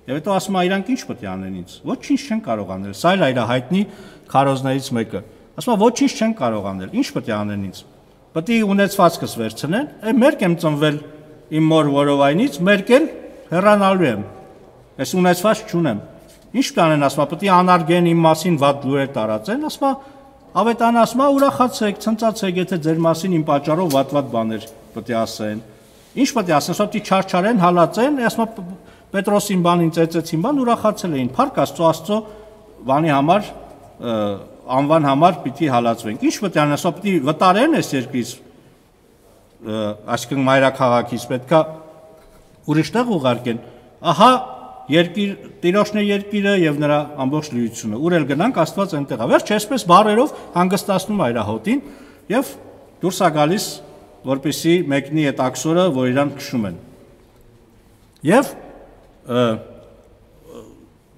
եւ հետո ասում է իրանք ինչ պետք է անեն ինձ։ Ոչինչ չեն կարող անել։ Սա էլ իր հայտնի քարոզներից մեկը։ Ասում է ոչինչ չեն կարող անել։ Ինչ պետք է անեն ինձ։ Պետք է ունեցվածքս վերցնեն, մերկ եմ ծնվել իմ մոր որովայնից, մերկ էլ հեռանալու եմ։ Ես ունեցված չունեմ։ Ինչ կանեն, ասում է, պետք է անարգեն իմ մասին վատ լուրեր տարածեն, ասում է, ավետարանը ասում է, ուրախացեք, ցնծացեք, եթե ձեր մասին իմ պատճառով վատ բաներ պետք է ասեն։ Ինչ պետք է ասեն, սա պետք է չարչարեն, հալածեն, ասում է, Պետրոսին բանին ծեծեցին բան, ուրախացել էին։ Փառք Աստծո բանի համար, անվան համար պիտի հալածվենք։ Ինչ պետք է անեն, ասում է, պետք է վտարեն այս երկրից, այսինքն մայրաքաղաքից, պետք է ուրիշ տեղ ուղարկեն։ Ահա երկիր, Տիրոջն է երկիրը եւ նրա ամբողջ լիությունը։ Ուր էլ գնանք, Աստված այնտեղ է։ Վերջ այսպես բառերով հանգստացնում է իր հոտին եւ դուրս է գալիս, որպեսզի մեկնի այդ աքսորը, որ իրան քշում են։ Եվ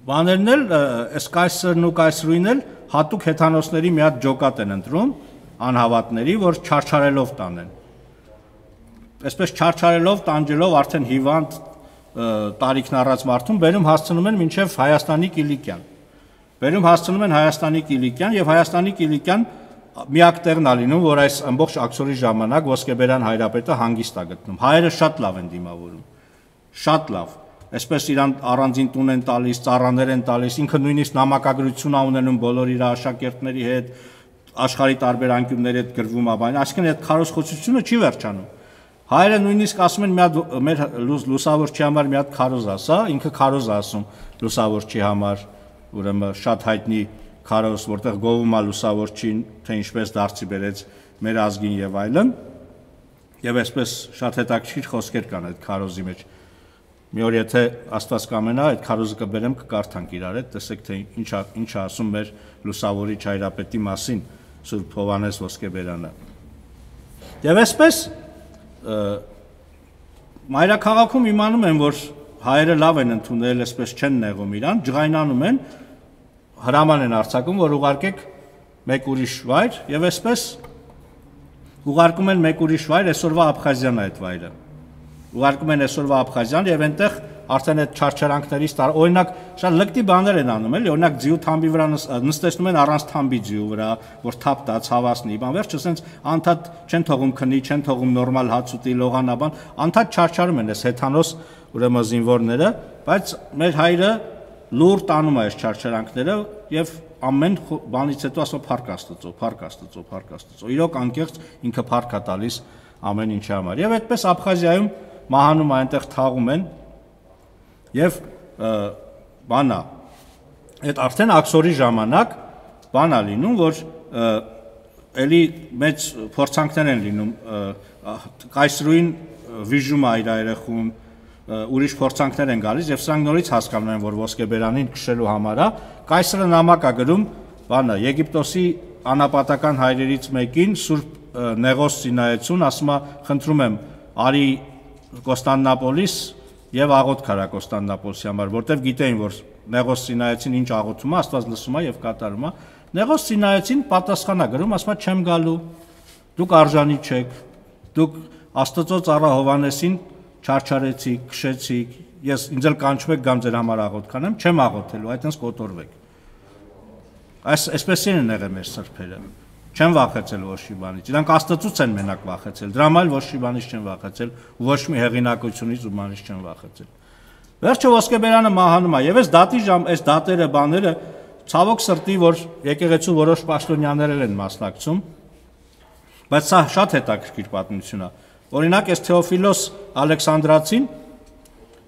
բաներն էլ այս կայսրն ու կայսրուին էլ հատուկ հեթանոսների մի հատ ջոկատ են ընտրում անհավատների, որ չարչարելով տանեն։ Այսպես չարչարելով, տանջելով արդեն հիվանդ տարիքն առած մարդուն բերում հասցնում են մինչև Հայաստանի Կիլիկյան։ Բերում հասցնում են Հայաստանի Կիլիկյան եւ Հայաստանի Կիլիկյան միակ տեղն է լինում, որ այս ամբողջ աքսորի ժամանակ Ոսկեբերյան հայրապետը հանգիստ է գտնում։ Հայերը շատ լավ են դիմավորում։ Շատ լավ։ Այսպես իրան առանձին տուն են տալիս, ծառաներ են տալիս, ինքը նույնիսկ նամակագրություն է ունենում բոլոր իր աշակերտների հետ, աշխարհի տարբեր անկյունների հետ գրվում է, բան, այսինքն այդ քարոզխոսությունը չի վերջանում։ Հայերը նույնիսկ ասում են մի հատ մեր լուսավորչի համար մի հատ քարոզ ասա, ինքը քարոզ ասում լուսավորչի համար, ուրեմն շատ հայտնի քարոզ, որտեղ գովում է լուսավորչին, թե ինչպես դարձի բերեց մեր ազգին եւ այլն։ Եվ այսպես շատ հետաքրքիր խոսքեր կան այդ քարոզի մեջ։ Մի օր եթե Աստված կամենա, այդ քարոզը կբերեմ, կկարդանք իրար հետ, տեսեք թե ինչ ասում մեր լուսավորիչ հայրապետի մասին Սուրբ Հովհաննես Ոսկեբերյանը։ Եվ այսպես մայրաքաղաքում իմանում են, որ հայերը լավ են ընդունել, այսպես չեն նեղում իրան, ջղայնանում են, հրաման են արձակում, որ ուղարկեք մեկ ուրիշ վայր, եւ այսպես ուղարկում են մեկ ուրիշ վայր, այսօրվա Աբխազիան է այդ վայրը։ Ուղարկում են այսօրվա Աբխազիան եւ այնտեղ արդեն այդ չարչարանքներից օրինակ շատ լկտի բաներ են անում, էլի, օրինակ ձիու թամբի վրա նստեցնում են առանց թամբի ձիու վրա, որ թափ տա, ցավասնի, բան վերջը ասենց անդադ չեն թողում քնի, չեն թողում նորմալ հաց ուտի, լողանաբան, անդադ չարչարում են այս հեթանոս ուրեմն զինվորները, բայց մեր հայրը լուր տանում է այս չարչարանքները եւ ամեն բանից հետո ասում փառք Աստծո, փառք Աստծո, փառք Աստծո։ Իրոք անկեղծ ինքը փառք է տալիս ամեն ինչի համար։ Եվ այդպես Աբխազիայում մահանում այնտեղ թաղում են եւ բանա այդ արդեն աքսորի ժամանակ բանա լինում, որ էլի մեծ փորձանքներ են լինում կայսրուին վիժում է իր երեխուն, ուրիշ փորձանքներ են գալիս եւ սրանք նորից հասկանում են, որ Ոսկեբերանին քշելու համար է, կայսրը նամակ է գրում, բանը Եգիպտոսի անապատական հայրերից մեկին Սուրբ Նեղոս Սինայեցուն, ասում է, խնդրում եմ, արի Կոստանդնապոլիս եւ աղոթք արա Կոստանդնապոլսի համար, որտեվ գիտեին, որ Նեղոս Սինայեցին ինչ աղոթում է, Աստված լսում է եւ կատարում է։ Նեղոս Սինայեցին պատասխան է գրում, ասում է, չեմ գալու, դուք արժանի չեք, դուք Աստծո ծառա Հովհաննեսին չարչարեցիք, քշեցիք, ես ինձ էլ կանչում եք գամ ձեր համար աղոթք անեմ, չեմ աղոթելու, այդտենց կոտորվեք։ Այսպես են եղել մեր սրբերը։ Չեն վախեցել ոչ մի բանից։ Իրանք Աստծուց են մենակ վախեցել։ Դրա համար ոչ մի բանից չեն վախեցել, ոչ մի հեղինակությունից ու բանից չեն վախեցել։ Վերջը Ոսկեբերյանը մահանում է, եւ այս դատերը բաները ցավոք սրտի, որ եկեղեցու որոշ պաշտոնյաներ են մասնակցում, բայց սա շատ հետաքրքիր պատմություն է։ Օրինակ, այս Թեոֆիլոս Ալեքսանդրացին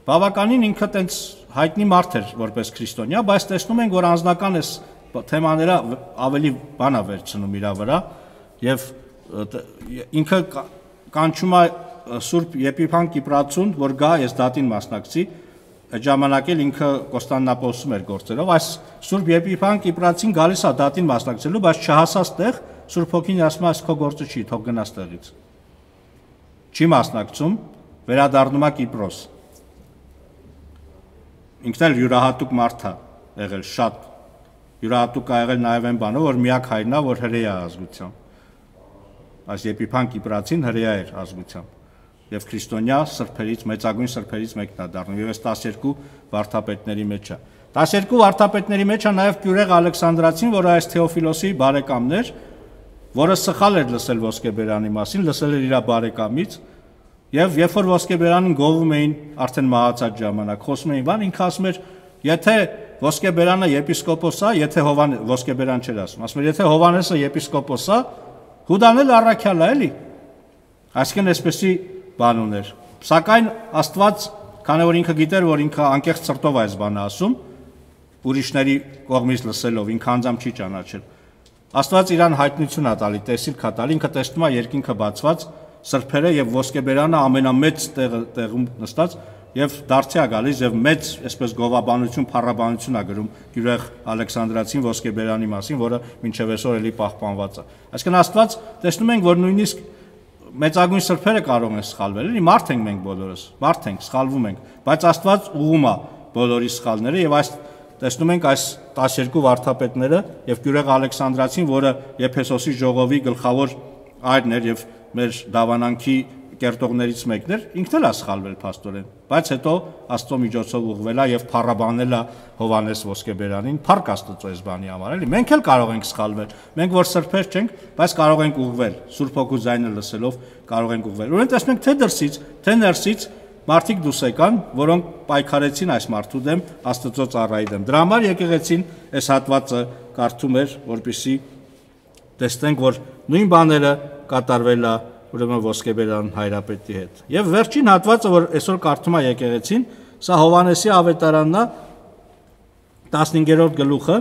բավականին ինքը տենց հայտնի մարդ էր որպես քրիստոնյա, բայց տեսնում ենք, որ անձնական այս թեմաները ավելի բանա վերցնում իր վրա, եւ ինքը կանչում է Սուրբ Եփիփան Կիպրացուն, որ գա այս դատին մասնակցի, այդ ժամանակ էլ ինքը Կոստանդնապոլսում էր գործելով, այս Սուրբ Եփիփան Կիպրացին գալիս է դատին մասնակցելու, բայց չհասած տեղ Սուրբ Հոգին ասում է, այս քո գործը չի, թող գնաս տեղից։ Չի մասնակցում, վերադառնում է Կիպրոս։ Ինքն էլ յուրահատուկ մարդ է եղել, շատ յուրահատուկ է եղել նաև այն բանը, որ միակ հայրն է, որ հրեա ազգությամբ։ Այս Եփիփան Կիպրացին հրեա էր ազգությամբ եւ քրիստոնյա սրբերից, մեծագույն սրբերից մեկն է դառնում եւ այս 12 վարդապետների մեջ է։ 12 վարդապետների մեջ է նաեւ Գյուրեղ Ալեքսանդրացին, որը այս Թեոֆիլոսի բարեկամն էր, որը սխալ էր լսել ոսկեբերանի մասին, լսել էր իր բարեկամից եւ երբ որ ոսկեբերանին գովում էին արդեն մահացած ժամանակ, խոսում էին բան, ինքը ասում էր, եթե ոսկեբերանը եպիսկոպոս է, եթե ոսկեբերան չէր ասում էր, եթե Հովանեսը եպիսկոպոս է, Հուդան էլ առաքյալ է, էլի։ Այսինքն այսպեսի բան ուներ։ Սակայն Աստված, քանի որ ինքը գիտեր, որ ինքը անկեղծ սրտով այս բանը ասում, ուրիշների կողմից լսելով, ինքը անձամբ չի ճանաչել։ Աստված իրան հայտնություն է տալի, տեսիլք է տալի, ինքը տեսնում է երկինքը բացված, սրբերը եւ ոսկեբերանը ամենամեծ տեղում նստած եւ դարձի է գալիս եւ մեծ, այսպես գովաբանություն, փառաբանություն է գրում Գյուրեղ Ալեքսանդրացին ոսկեբերանի մասին, որը մինչեւ այսօր էլի պահպանված է։ Այսինքն Աստված տեսնում ենք, որ նույնիսկ մեծագույն սրբերը կարող են սխալվել, էլի մարդ ենք մենք բոլորս, մարդ ենք, սխալվում ենք, բայց Աստված ուղում է բոլորի սխալները եւ այս տեսնում ենք այս 12 վարդապետները եւ Գյուրեղ Ալեքսանդրացին, որը Եփեսոսի ժողովի գլխավոր այրն էր եւ մեր դավանանքի կերտողներից մեկն էր, ինքն էլ է սխալվել փաստորեն, բայց հետո Աստծո միջոցով ուղղվել է եւ փառաբանել է Հովանես ոսկեբերանին, փառք Աստծո այս բանի համար, էլի։ Մենք էլ կարող ենք սխալվել, մենք որ սրբեր չենք, բայց կարող ենք ուղղվել, Սուրբ Հոգու ձայնը լսելով կարող ենք ուղղվել։ Ուրեմն տեսնենք թե դրսից, թե ներսից մարդիկ դուրս եկան, որոնք պայքարեցին այս մարդու դեմ, Աստծո ծառայի դեմ։ Դրա համար եկեղեցին այս հատվածը կարդում էր, որպեսզի տեսնենք, որ նույն բաները կատարվել է ուրեմն ոսկեբերան հայրապետի հետ։ Եվ վերջին հատվածը, որ այսօր կարդում է եկեղեցին, սա Հովանեսի ավետարանն է 15-րդ գլուխը։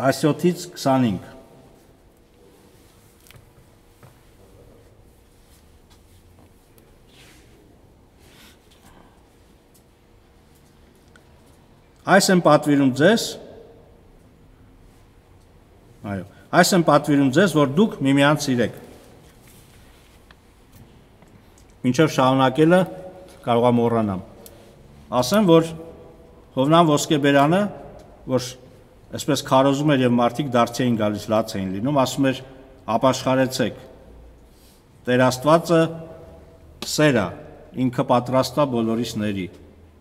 Տասյոթից 25։ Այս եմ պատվիրում ձեզ, այս եմ պատվիրում ձեզ, որ դուք միմյանց սիրեք։ Մինչև շարունակելը կարող եմ մոռանամ։ Ասեմ, որ Հովնան ոսկեբերանը, որ այսպես քարոզում էր եւ մարդիկ դարձի էին գալիս, լաց էին լինում, ասում էր ապաշխարեցեք։ Տեր Աստվածը սեր է, ինքը պատրաստ է բոլորիս ների։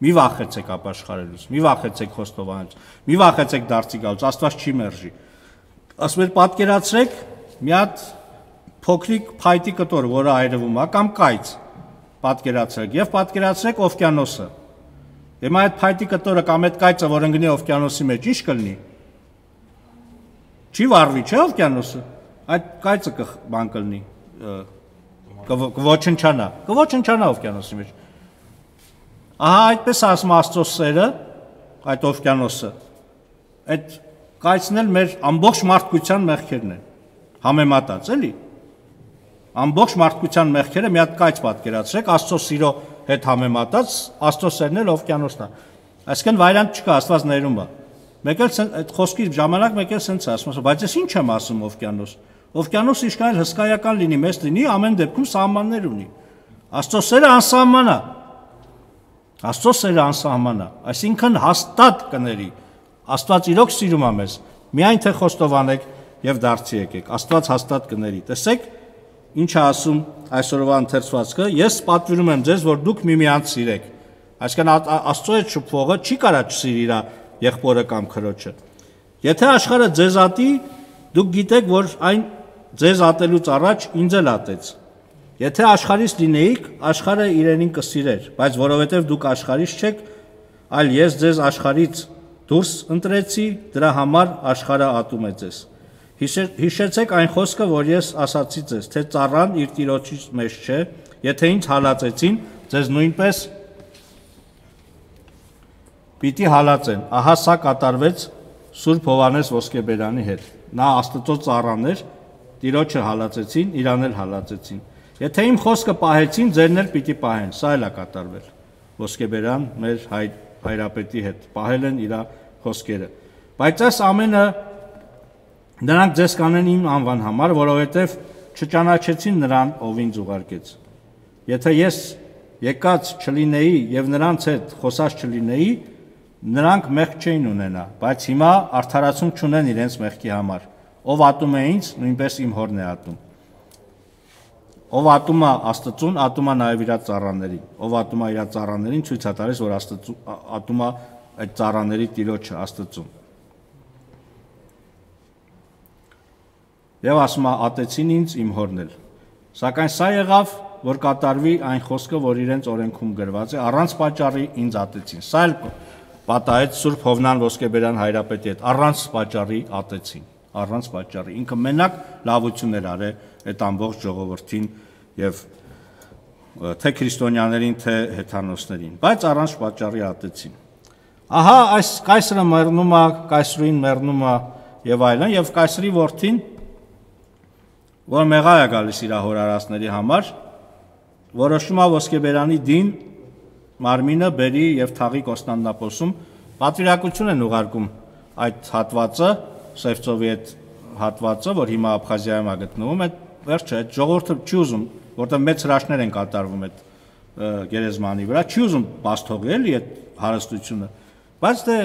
Մի վախեցեք ապաշխարելուց, մի վախեցեք խոստովանելուց, մի վախեցեք դարձի գալուց, Աստված չի մերժի։ Ասում էր պատկերացրեք մի հատ փոքրիկ փայտի կտոր, որը այրվում է, կամ կայծ, պատկերացրեք եւ պատկերացրեք օվկիանոսը։ Հիմա այդ փայտի կտորը կամ այդ կայծը, որ ընկնի օվկիանոսի մեջ, ինչ կլինի։ Չի վառվի, չէ՞ օվկիանոսը։ Այդ կայծը բան կլինի, կոչնչանա օվկիանոսի մեջ։ Ահա այդպես ասում Աստծո սերը, այդ օվկիանոսը, այդ կայծն էլ մեր ամբողջ մարդկության մեղքերն են, համեմատած, էլի։ Ամբողջ մարդկության մեղքերը մի հատ կայծ պատկերացրեք, Աստծո սիրո հետ համեմատած, Աստծո սերն էլ օվկիանոսն է։ Այսինքն վայրանք չկա, Աստված ներում է։ Մեկ էլ այդ խոսքի ժամանակ մեկ էլ սենց ասում, բայց ես ինչ եմ ասում օվկիանոս։ Օվկիանոսը ինչքան էլ հսկայական լինի, մեծ լինի, ամեն դեպքում սահմաններ ունի։ Աստծո սերը անսահման է։ Աստծո սերը անսահման է, այսինքն հաստատ կների։ Աստված իրոք սիրում է մեզ, միայն թե խոստովանեք եւ դարձի եկեք։ Աստված հաստատ կների։ Տեսեք, ինչ է ասում այսօրվա ընթերցվածքը, ես պատվիրում եմ ձեզ, որ դուք միմյանց սիրեք։ Այսինքն Աստծո հետ շփվողը չի կարա չսիրի իր եղբորը կամ քրոջը։ Եթե աշխարհը ձեզ ատի, դուք գիտեք, որ այն ձեզ ատելուց առաջ ինձ էլ ատեց։ Եթե աշխարհից լինեիք, աշխարհը իրենին կսիրեր, բայց որովհետև դուք աշխարհից չեք, այլ ես ձեզ աշխարհից դուրս ընտրեցի, դրա համար աշխարհը ատում է ձեզ։ Հիշեցեք այն խոսքը, որ ես ասացի ձեզ, թե ծառան իր տիրոջից մեջ չէ, եթե ինձ հալածեցին, ձեզ նույնպես պիտի հալածեն։ Ահա սա կատարվեց Սուրբ Հովհաննես Ոսկեբերանի հետ։ Նա Աստծո ծառան էր, Տիրոջը հալածեցին, իրան էլ հալածեցին։ Եթե իմ խոսքը պահեցին, ձերն էլ պիտի պահեն։ Սա էլ է կատարվել։ Ոսկեբերան մեր հայրապետի հետ պահել են իր խոսքերը։ Բայց այս ամենը նրանք ձեզ կանեն իմ անվան համար, որովհետև չճանաչեցին նրան, ով ինձ ուղարկեց։ Եթե ես եկած չլինեի եւ նրանց հետ խոսած չլինեի, նրանք մեղք չէին ունենա, բայց հիմա արդարացում չունեն իրենց մեղքի համար։ Ով ատում է ինձ, նույնպես իմ հորն է ատում։ Ով ատում է Աստծուն, ատում է նաև իր ծառաներին։ Ով ատում է իր ծառաներին, ցույց է տալիս, որ ատում է այդ ծառաների Տիրոջը Աստծուն։ Եվ ասում է, ատեցին ինձ, իմ հորն էլ։ Սակայն սա եղավ, որ կատարվի այն խոսքը, որ իրենց օրենքում գրված է, առանց պատճառի ինձ ատեցին։ Սա էլ պատահեց Սուրբ Հովնան Ոսկեբերան հայրապետի հետ, առանց պատճառի ատեցին, առանց պատճառի։ Ինքը մենակ լավություններ արել այդ ամբողջ ժողովրդին եւ թե քրիստոնյաներին, թե հեթանոսներին, բայց առանց պատճառի ատեցին։ Ահա այս կայսրը մեռնում է, կայսրուին մեռնում է եւ այլն, եւ կայսրի որդին, որ մեղա է գալիս իր հորարածների համար, որոշում է Ոսկեբերանի դին մարմինը բերի եւ թաղի Կոստանդնապոսում, պատվիրակություն են ուղարկում այդ հատվածը, Սևծովի այդ հատվածը, որ հիմա Աբխազիայում է գտնվում, այդ վերջը այդ ժողովուրդը չի ուզում, որտեղ մեծ հրաշքներ են կատարվում այդ գերեզմանի վրա, չի ուզում բացթողի էլի այդ հարստությունը, բայց դե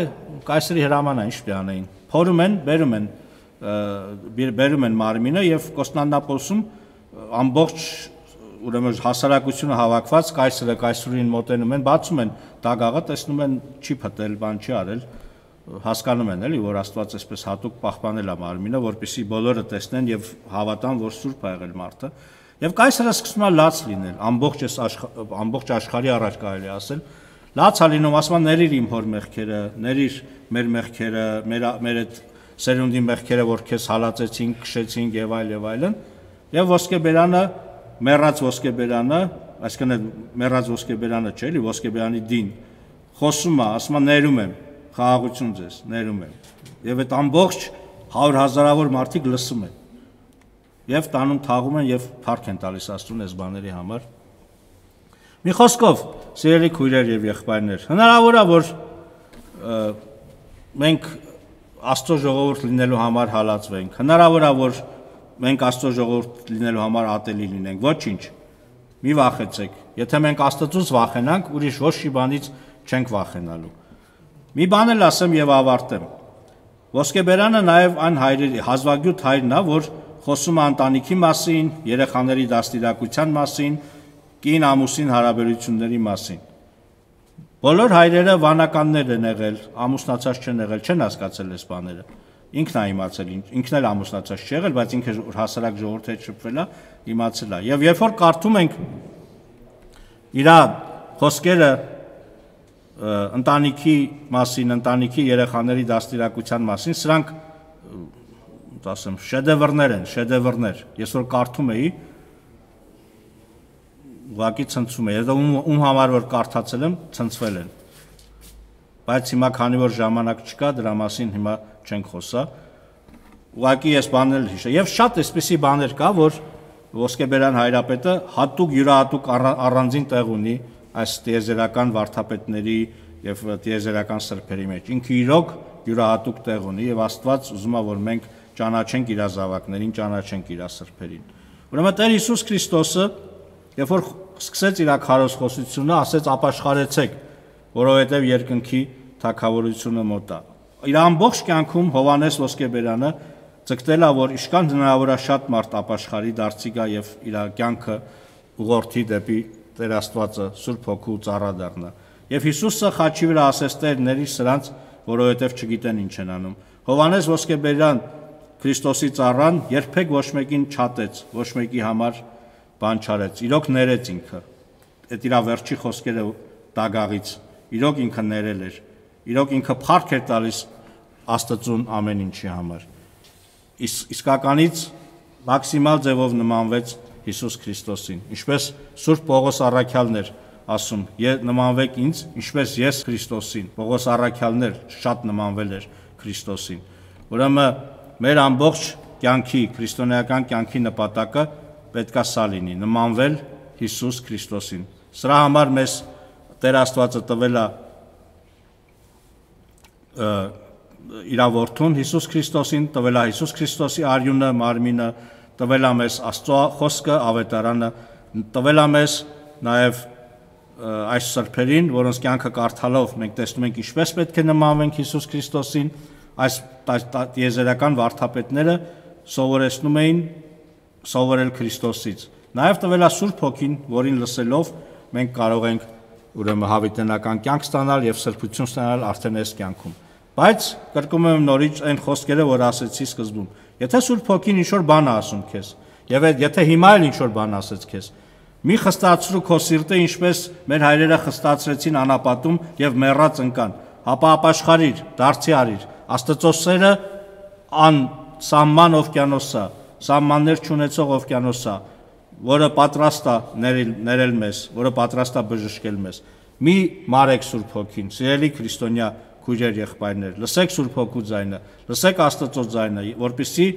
կայսրի հրամանն է, ինչ պիտի անեին, փորում են, բերում են մարմինը եւ Կոստանդնապոսում ամբողջ ուրեմն հասարակությունը հավաքված կայսրը կայսրուին մոտենում են, բացում են դագաղը, տեսնում են չի փտել, բան չի արել, հասկանում են էլի, որ Աստված այսպես հատուկ պահպանել է մարմինը, որպեսզի բոլորը տեսնեն եւ հավատան, որ սուրբ է եղել մարդը։ Եվ կայսրը սկսում է լաց լինել, ամբողջ աշխարհի առաջ կարելի ասել, լաց է լինում, ասում է ների իմ հոր մեղքերը, ների մեր մեղքերը, մեր այդ սերունդի մեղքերը, որ քեզ հալածեցին, քշեցին եւ այլն, եւ Ոսկեբերանը մեռած Ոսկեբերանը, այսինքն մեռած Ոսկեբերանը չէ, էլի Ոսկեբերանի դին խոսում է, ասում է ներում եմ, խաղաղություն ձեզ, ներում եմ։ Եվ այդ ամբողջ 100,000-ավոր մարդիկ լսում են։ Եվ տանում թաղում են եւ փառք են տալիս Աստծուն այս բաների համար։ Մի խոսքով, սիրելի քույրեր եւ եղբայրներ, հնարավոր է, որ մենք Աստծո ժողովուրդ լինելու համար հալածվենք։ Հնարավոր է, որ մենք Աստծո ժողովուրդ լինելու համար ատելի լինենք, ոչինչ, մի վախեցեք, եթե մենք Աստծուց վախենանք, ուրիշ ոչ մի բանից չենք վախենալու։ Մի բան էլ ասեմ եւ ավարտեմ։ Ոսկեբերանը նաեւ այն հայրերի, հազվագյուտ հայրն է, որ խոսում է ընտանիքի մասին, երեխաների դաստիարակության մասին, կին ամուսին հարաբերությունների մասին։ Բոլոր հայրերը վանականներ են եղել, ամուսնացած չեն եղել, չեն հասկացել այս բաները։ Ինքն է իմացել, ինքն էլ ամուսնացած չի եղել, բայց ինքը հասարակ ժողովրդի հետ շփվել է, իմացել է։ Եվ երբ որ կարդում ենք իր խոսքերը ընտանիքի մասին, ընտանիքի երեխաների դաստիարակության մասին, սրանք ասեմ շեդևրներ են, շեդևրներ։ Ես որ կարդում էի, ուղղակի ցնցում էի, ում համար որ կարդացել եմ, ցնցվել են։ Բայց հիմա քանի որ ժամանակ չկա, դրա մասին հիմա չենք խոսա։ Ուղղակի ես բանել էլ հիշա։ Եվ շատ էսպիսի բաներ կա, որ Ոսկեբերան հայրապետը հատուկ յուրահատուկ առանձին տեղ ունի այս տիեզերական վարդապետների եւ տիեզերական սրբերի մեջ։ Ինքը իրոք յուրահատուկ տեղ ունի եւ Աստված ուզում է, որ մենք ճանաչենք իր զավակներին, ճանաչենք իր սրբերին։ Ուրեմն Տեր Հիսուս Քրիստոսը, երբ որ սկսեց իր քարոզխոսությունը, ասեց ապաշխարեցեք, որովհետեւ երկնքի թագավորությունը մոտ է։ Իր ամբողջ կյանքում Հովհաննես Ոսկեբերանը ցկտել է, որ իշքան հնարավոր է շատ մարդ ապաշխարի, դարձի գա եւ իր կյանքը ուղղորդի դեպի Տեր Աստվածը, Սուրբ Հոգու ծառա դառնա։ Եվ Հիսուսը խաչի վրա ասեց Տերների սրանց, որովհետեւ չգիտեն ինչ են անում։ Հովհաննես Ոսկեբերան Քրիստոսի ծառան երբեք ոչ մեկին չատեց, ոչ մեկի համար բան չարեց։ Իրոք ներեց ինքը։ Այդ իր վերջի խոսքերը դագաղից, իրոք ինքը ներել էր։ Իրոք ինքը փառք էր տալիս Աստծուն ամեն ինչի համար։ Իսկականից մաքսիմալ ձևով նմանվեց Հիսուս Քրիստոսին, ինչպես Սուրբ Պողոս առաքյալն էր ասում. նմանվեք ինձ, ինչպես ես Քրիստոսին։ Պողոս առաքյալն շատ նմանվել էր Քրիստոսին։ Ուրեմն մեր ամբողջ կյանքի, քրիստոնեական կյանքի նպատակը պետք է սա լինի՝ նմանվել Հիսուս Քրիստոսին։ Սրա համար մեզ Տեր Աստվածը տվել է իր որդուն Հիսուս Քրիստոսին, տվել է Հիսուս Քրիստոսի արյունը, մարմինը, տվել է մեզ Աստծո խոսքը, ավետարանը, տվել է մեզ նաև այս սրբերին, որոնց կյանքը կարդալով մենք տեսնում ենք ինչպես պետք է նմանվենք Հիսուս Քրիստոսին, այս տիեզերական վարդապետները սովորեցնում էին սովորել Քրիստոսից։ Նաև տվել է Սուրբ Հոգին, որին լսելով մենք կարող ենք ուրեմն հավիտենական կյանք ստանալ եւ սրբություն ստանալ արդեն այս կյանքում։ Բայց կրկնում եմ նորից այն խոսքերը, որ ասեցի սկզբում։ Եթե Սուրբ Հոգին ինչ-որ բան է ասում քեզ, եւ եթե հիմա էլ ինչ-որ բան ասեց քեզ, մի խստացրու քո սիրտը, ինչպես մեր հայրերը խստացրեցին անապատում եւ մեռած ընկան, ապա ապաշխարիր, դարձի արիր։ Աստծո սերը անսահման օվկիանոս է, սահմաններ չունեցող օվկիանոս է, որը պատրաստ է ներել մեզ, որը պատրաստ է բժշկել մեզ։ Մի մարեք Սուրբ Հոգին, սիրելի քրիստոնյա քույրեր, եղբայրներ, լսեք Սուրբ Հոգու ձայնը, լսեք Աստծո ձայնը, որպեսզի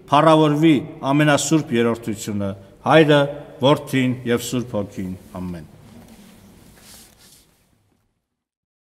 փառավորվի ամենասուրբ երրորդությունը, Հայրը, Որդին եւ Սուրբ Հոգին։ Ամեն։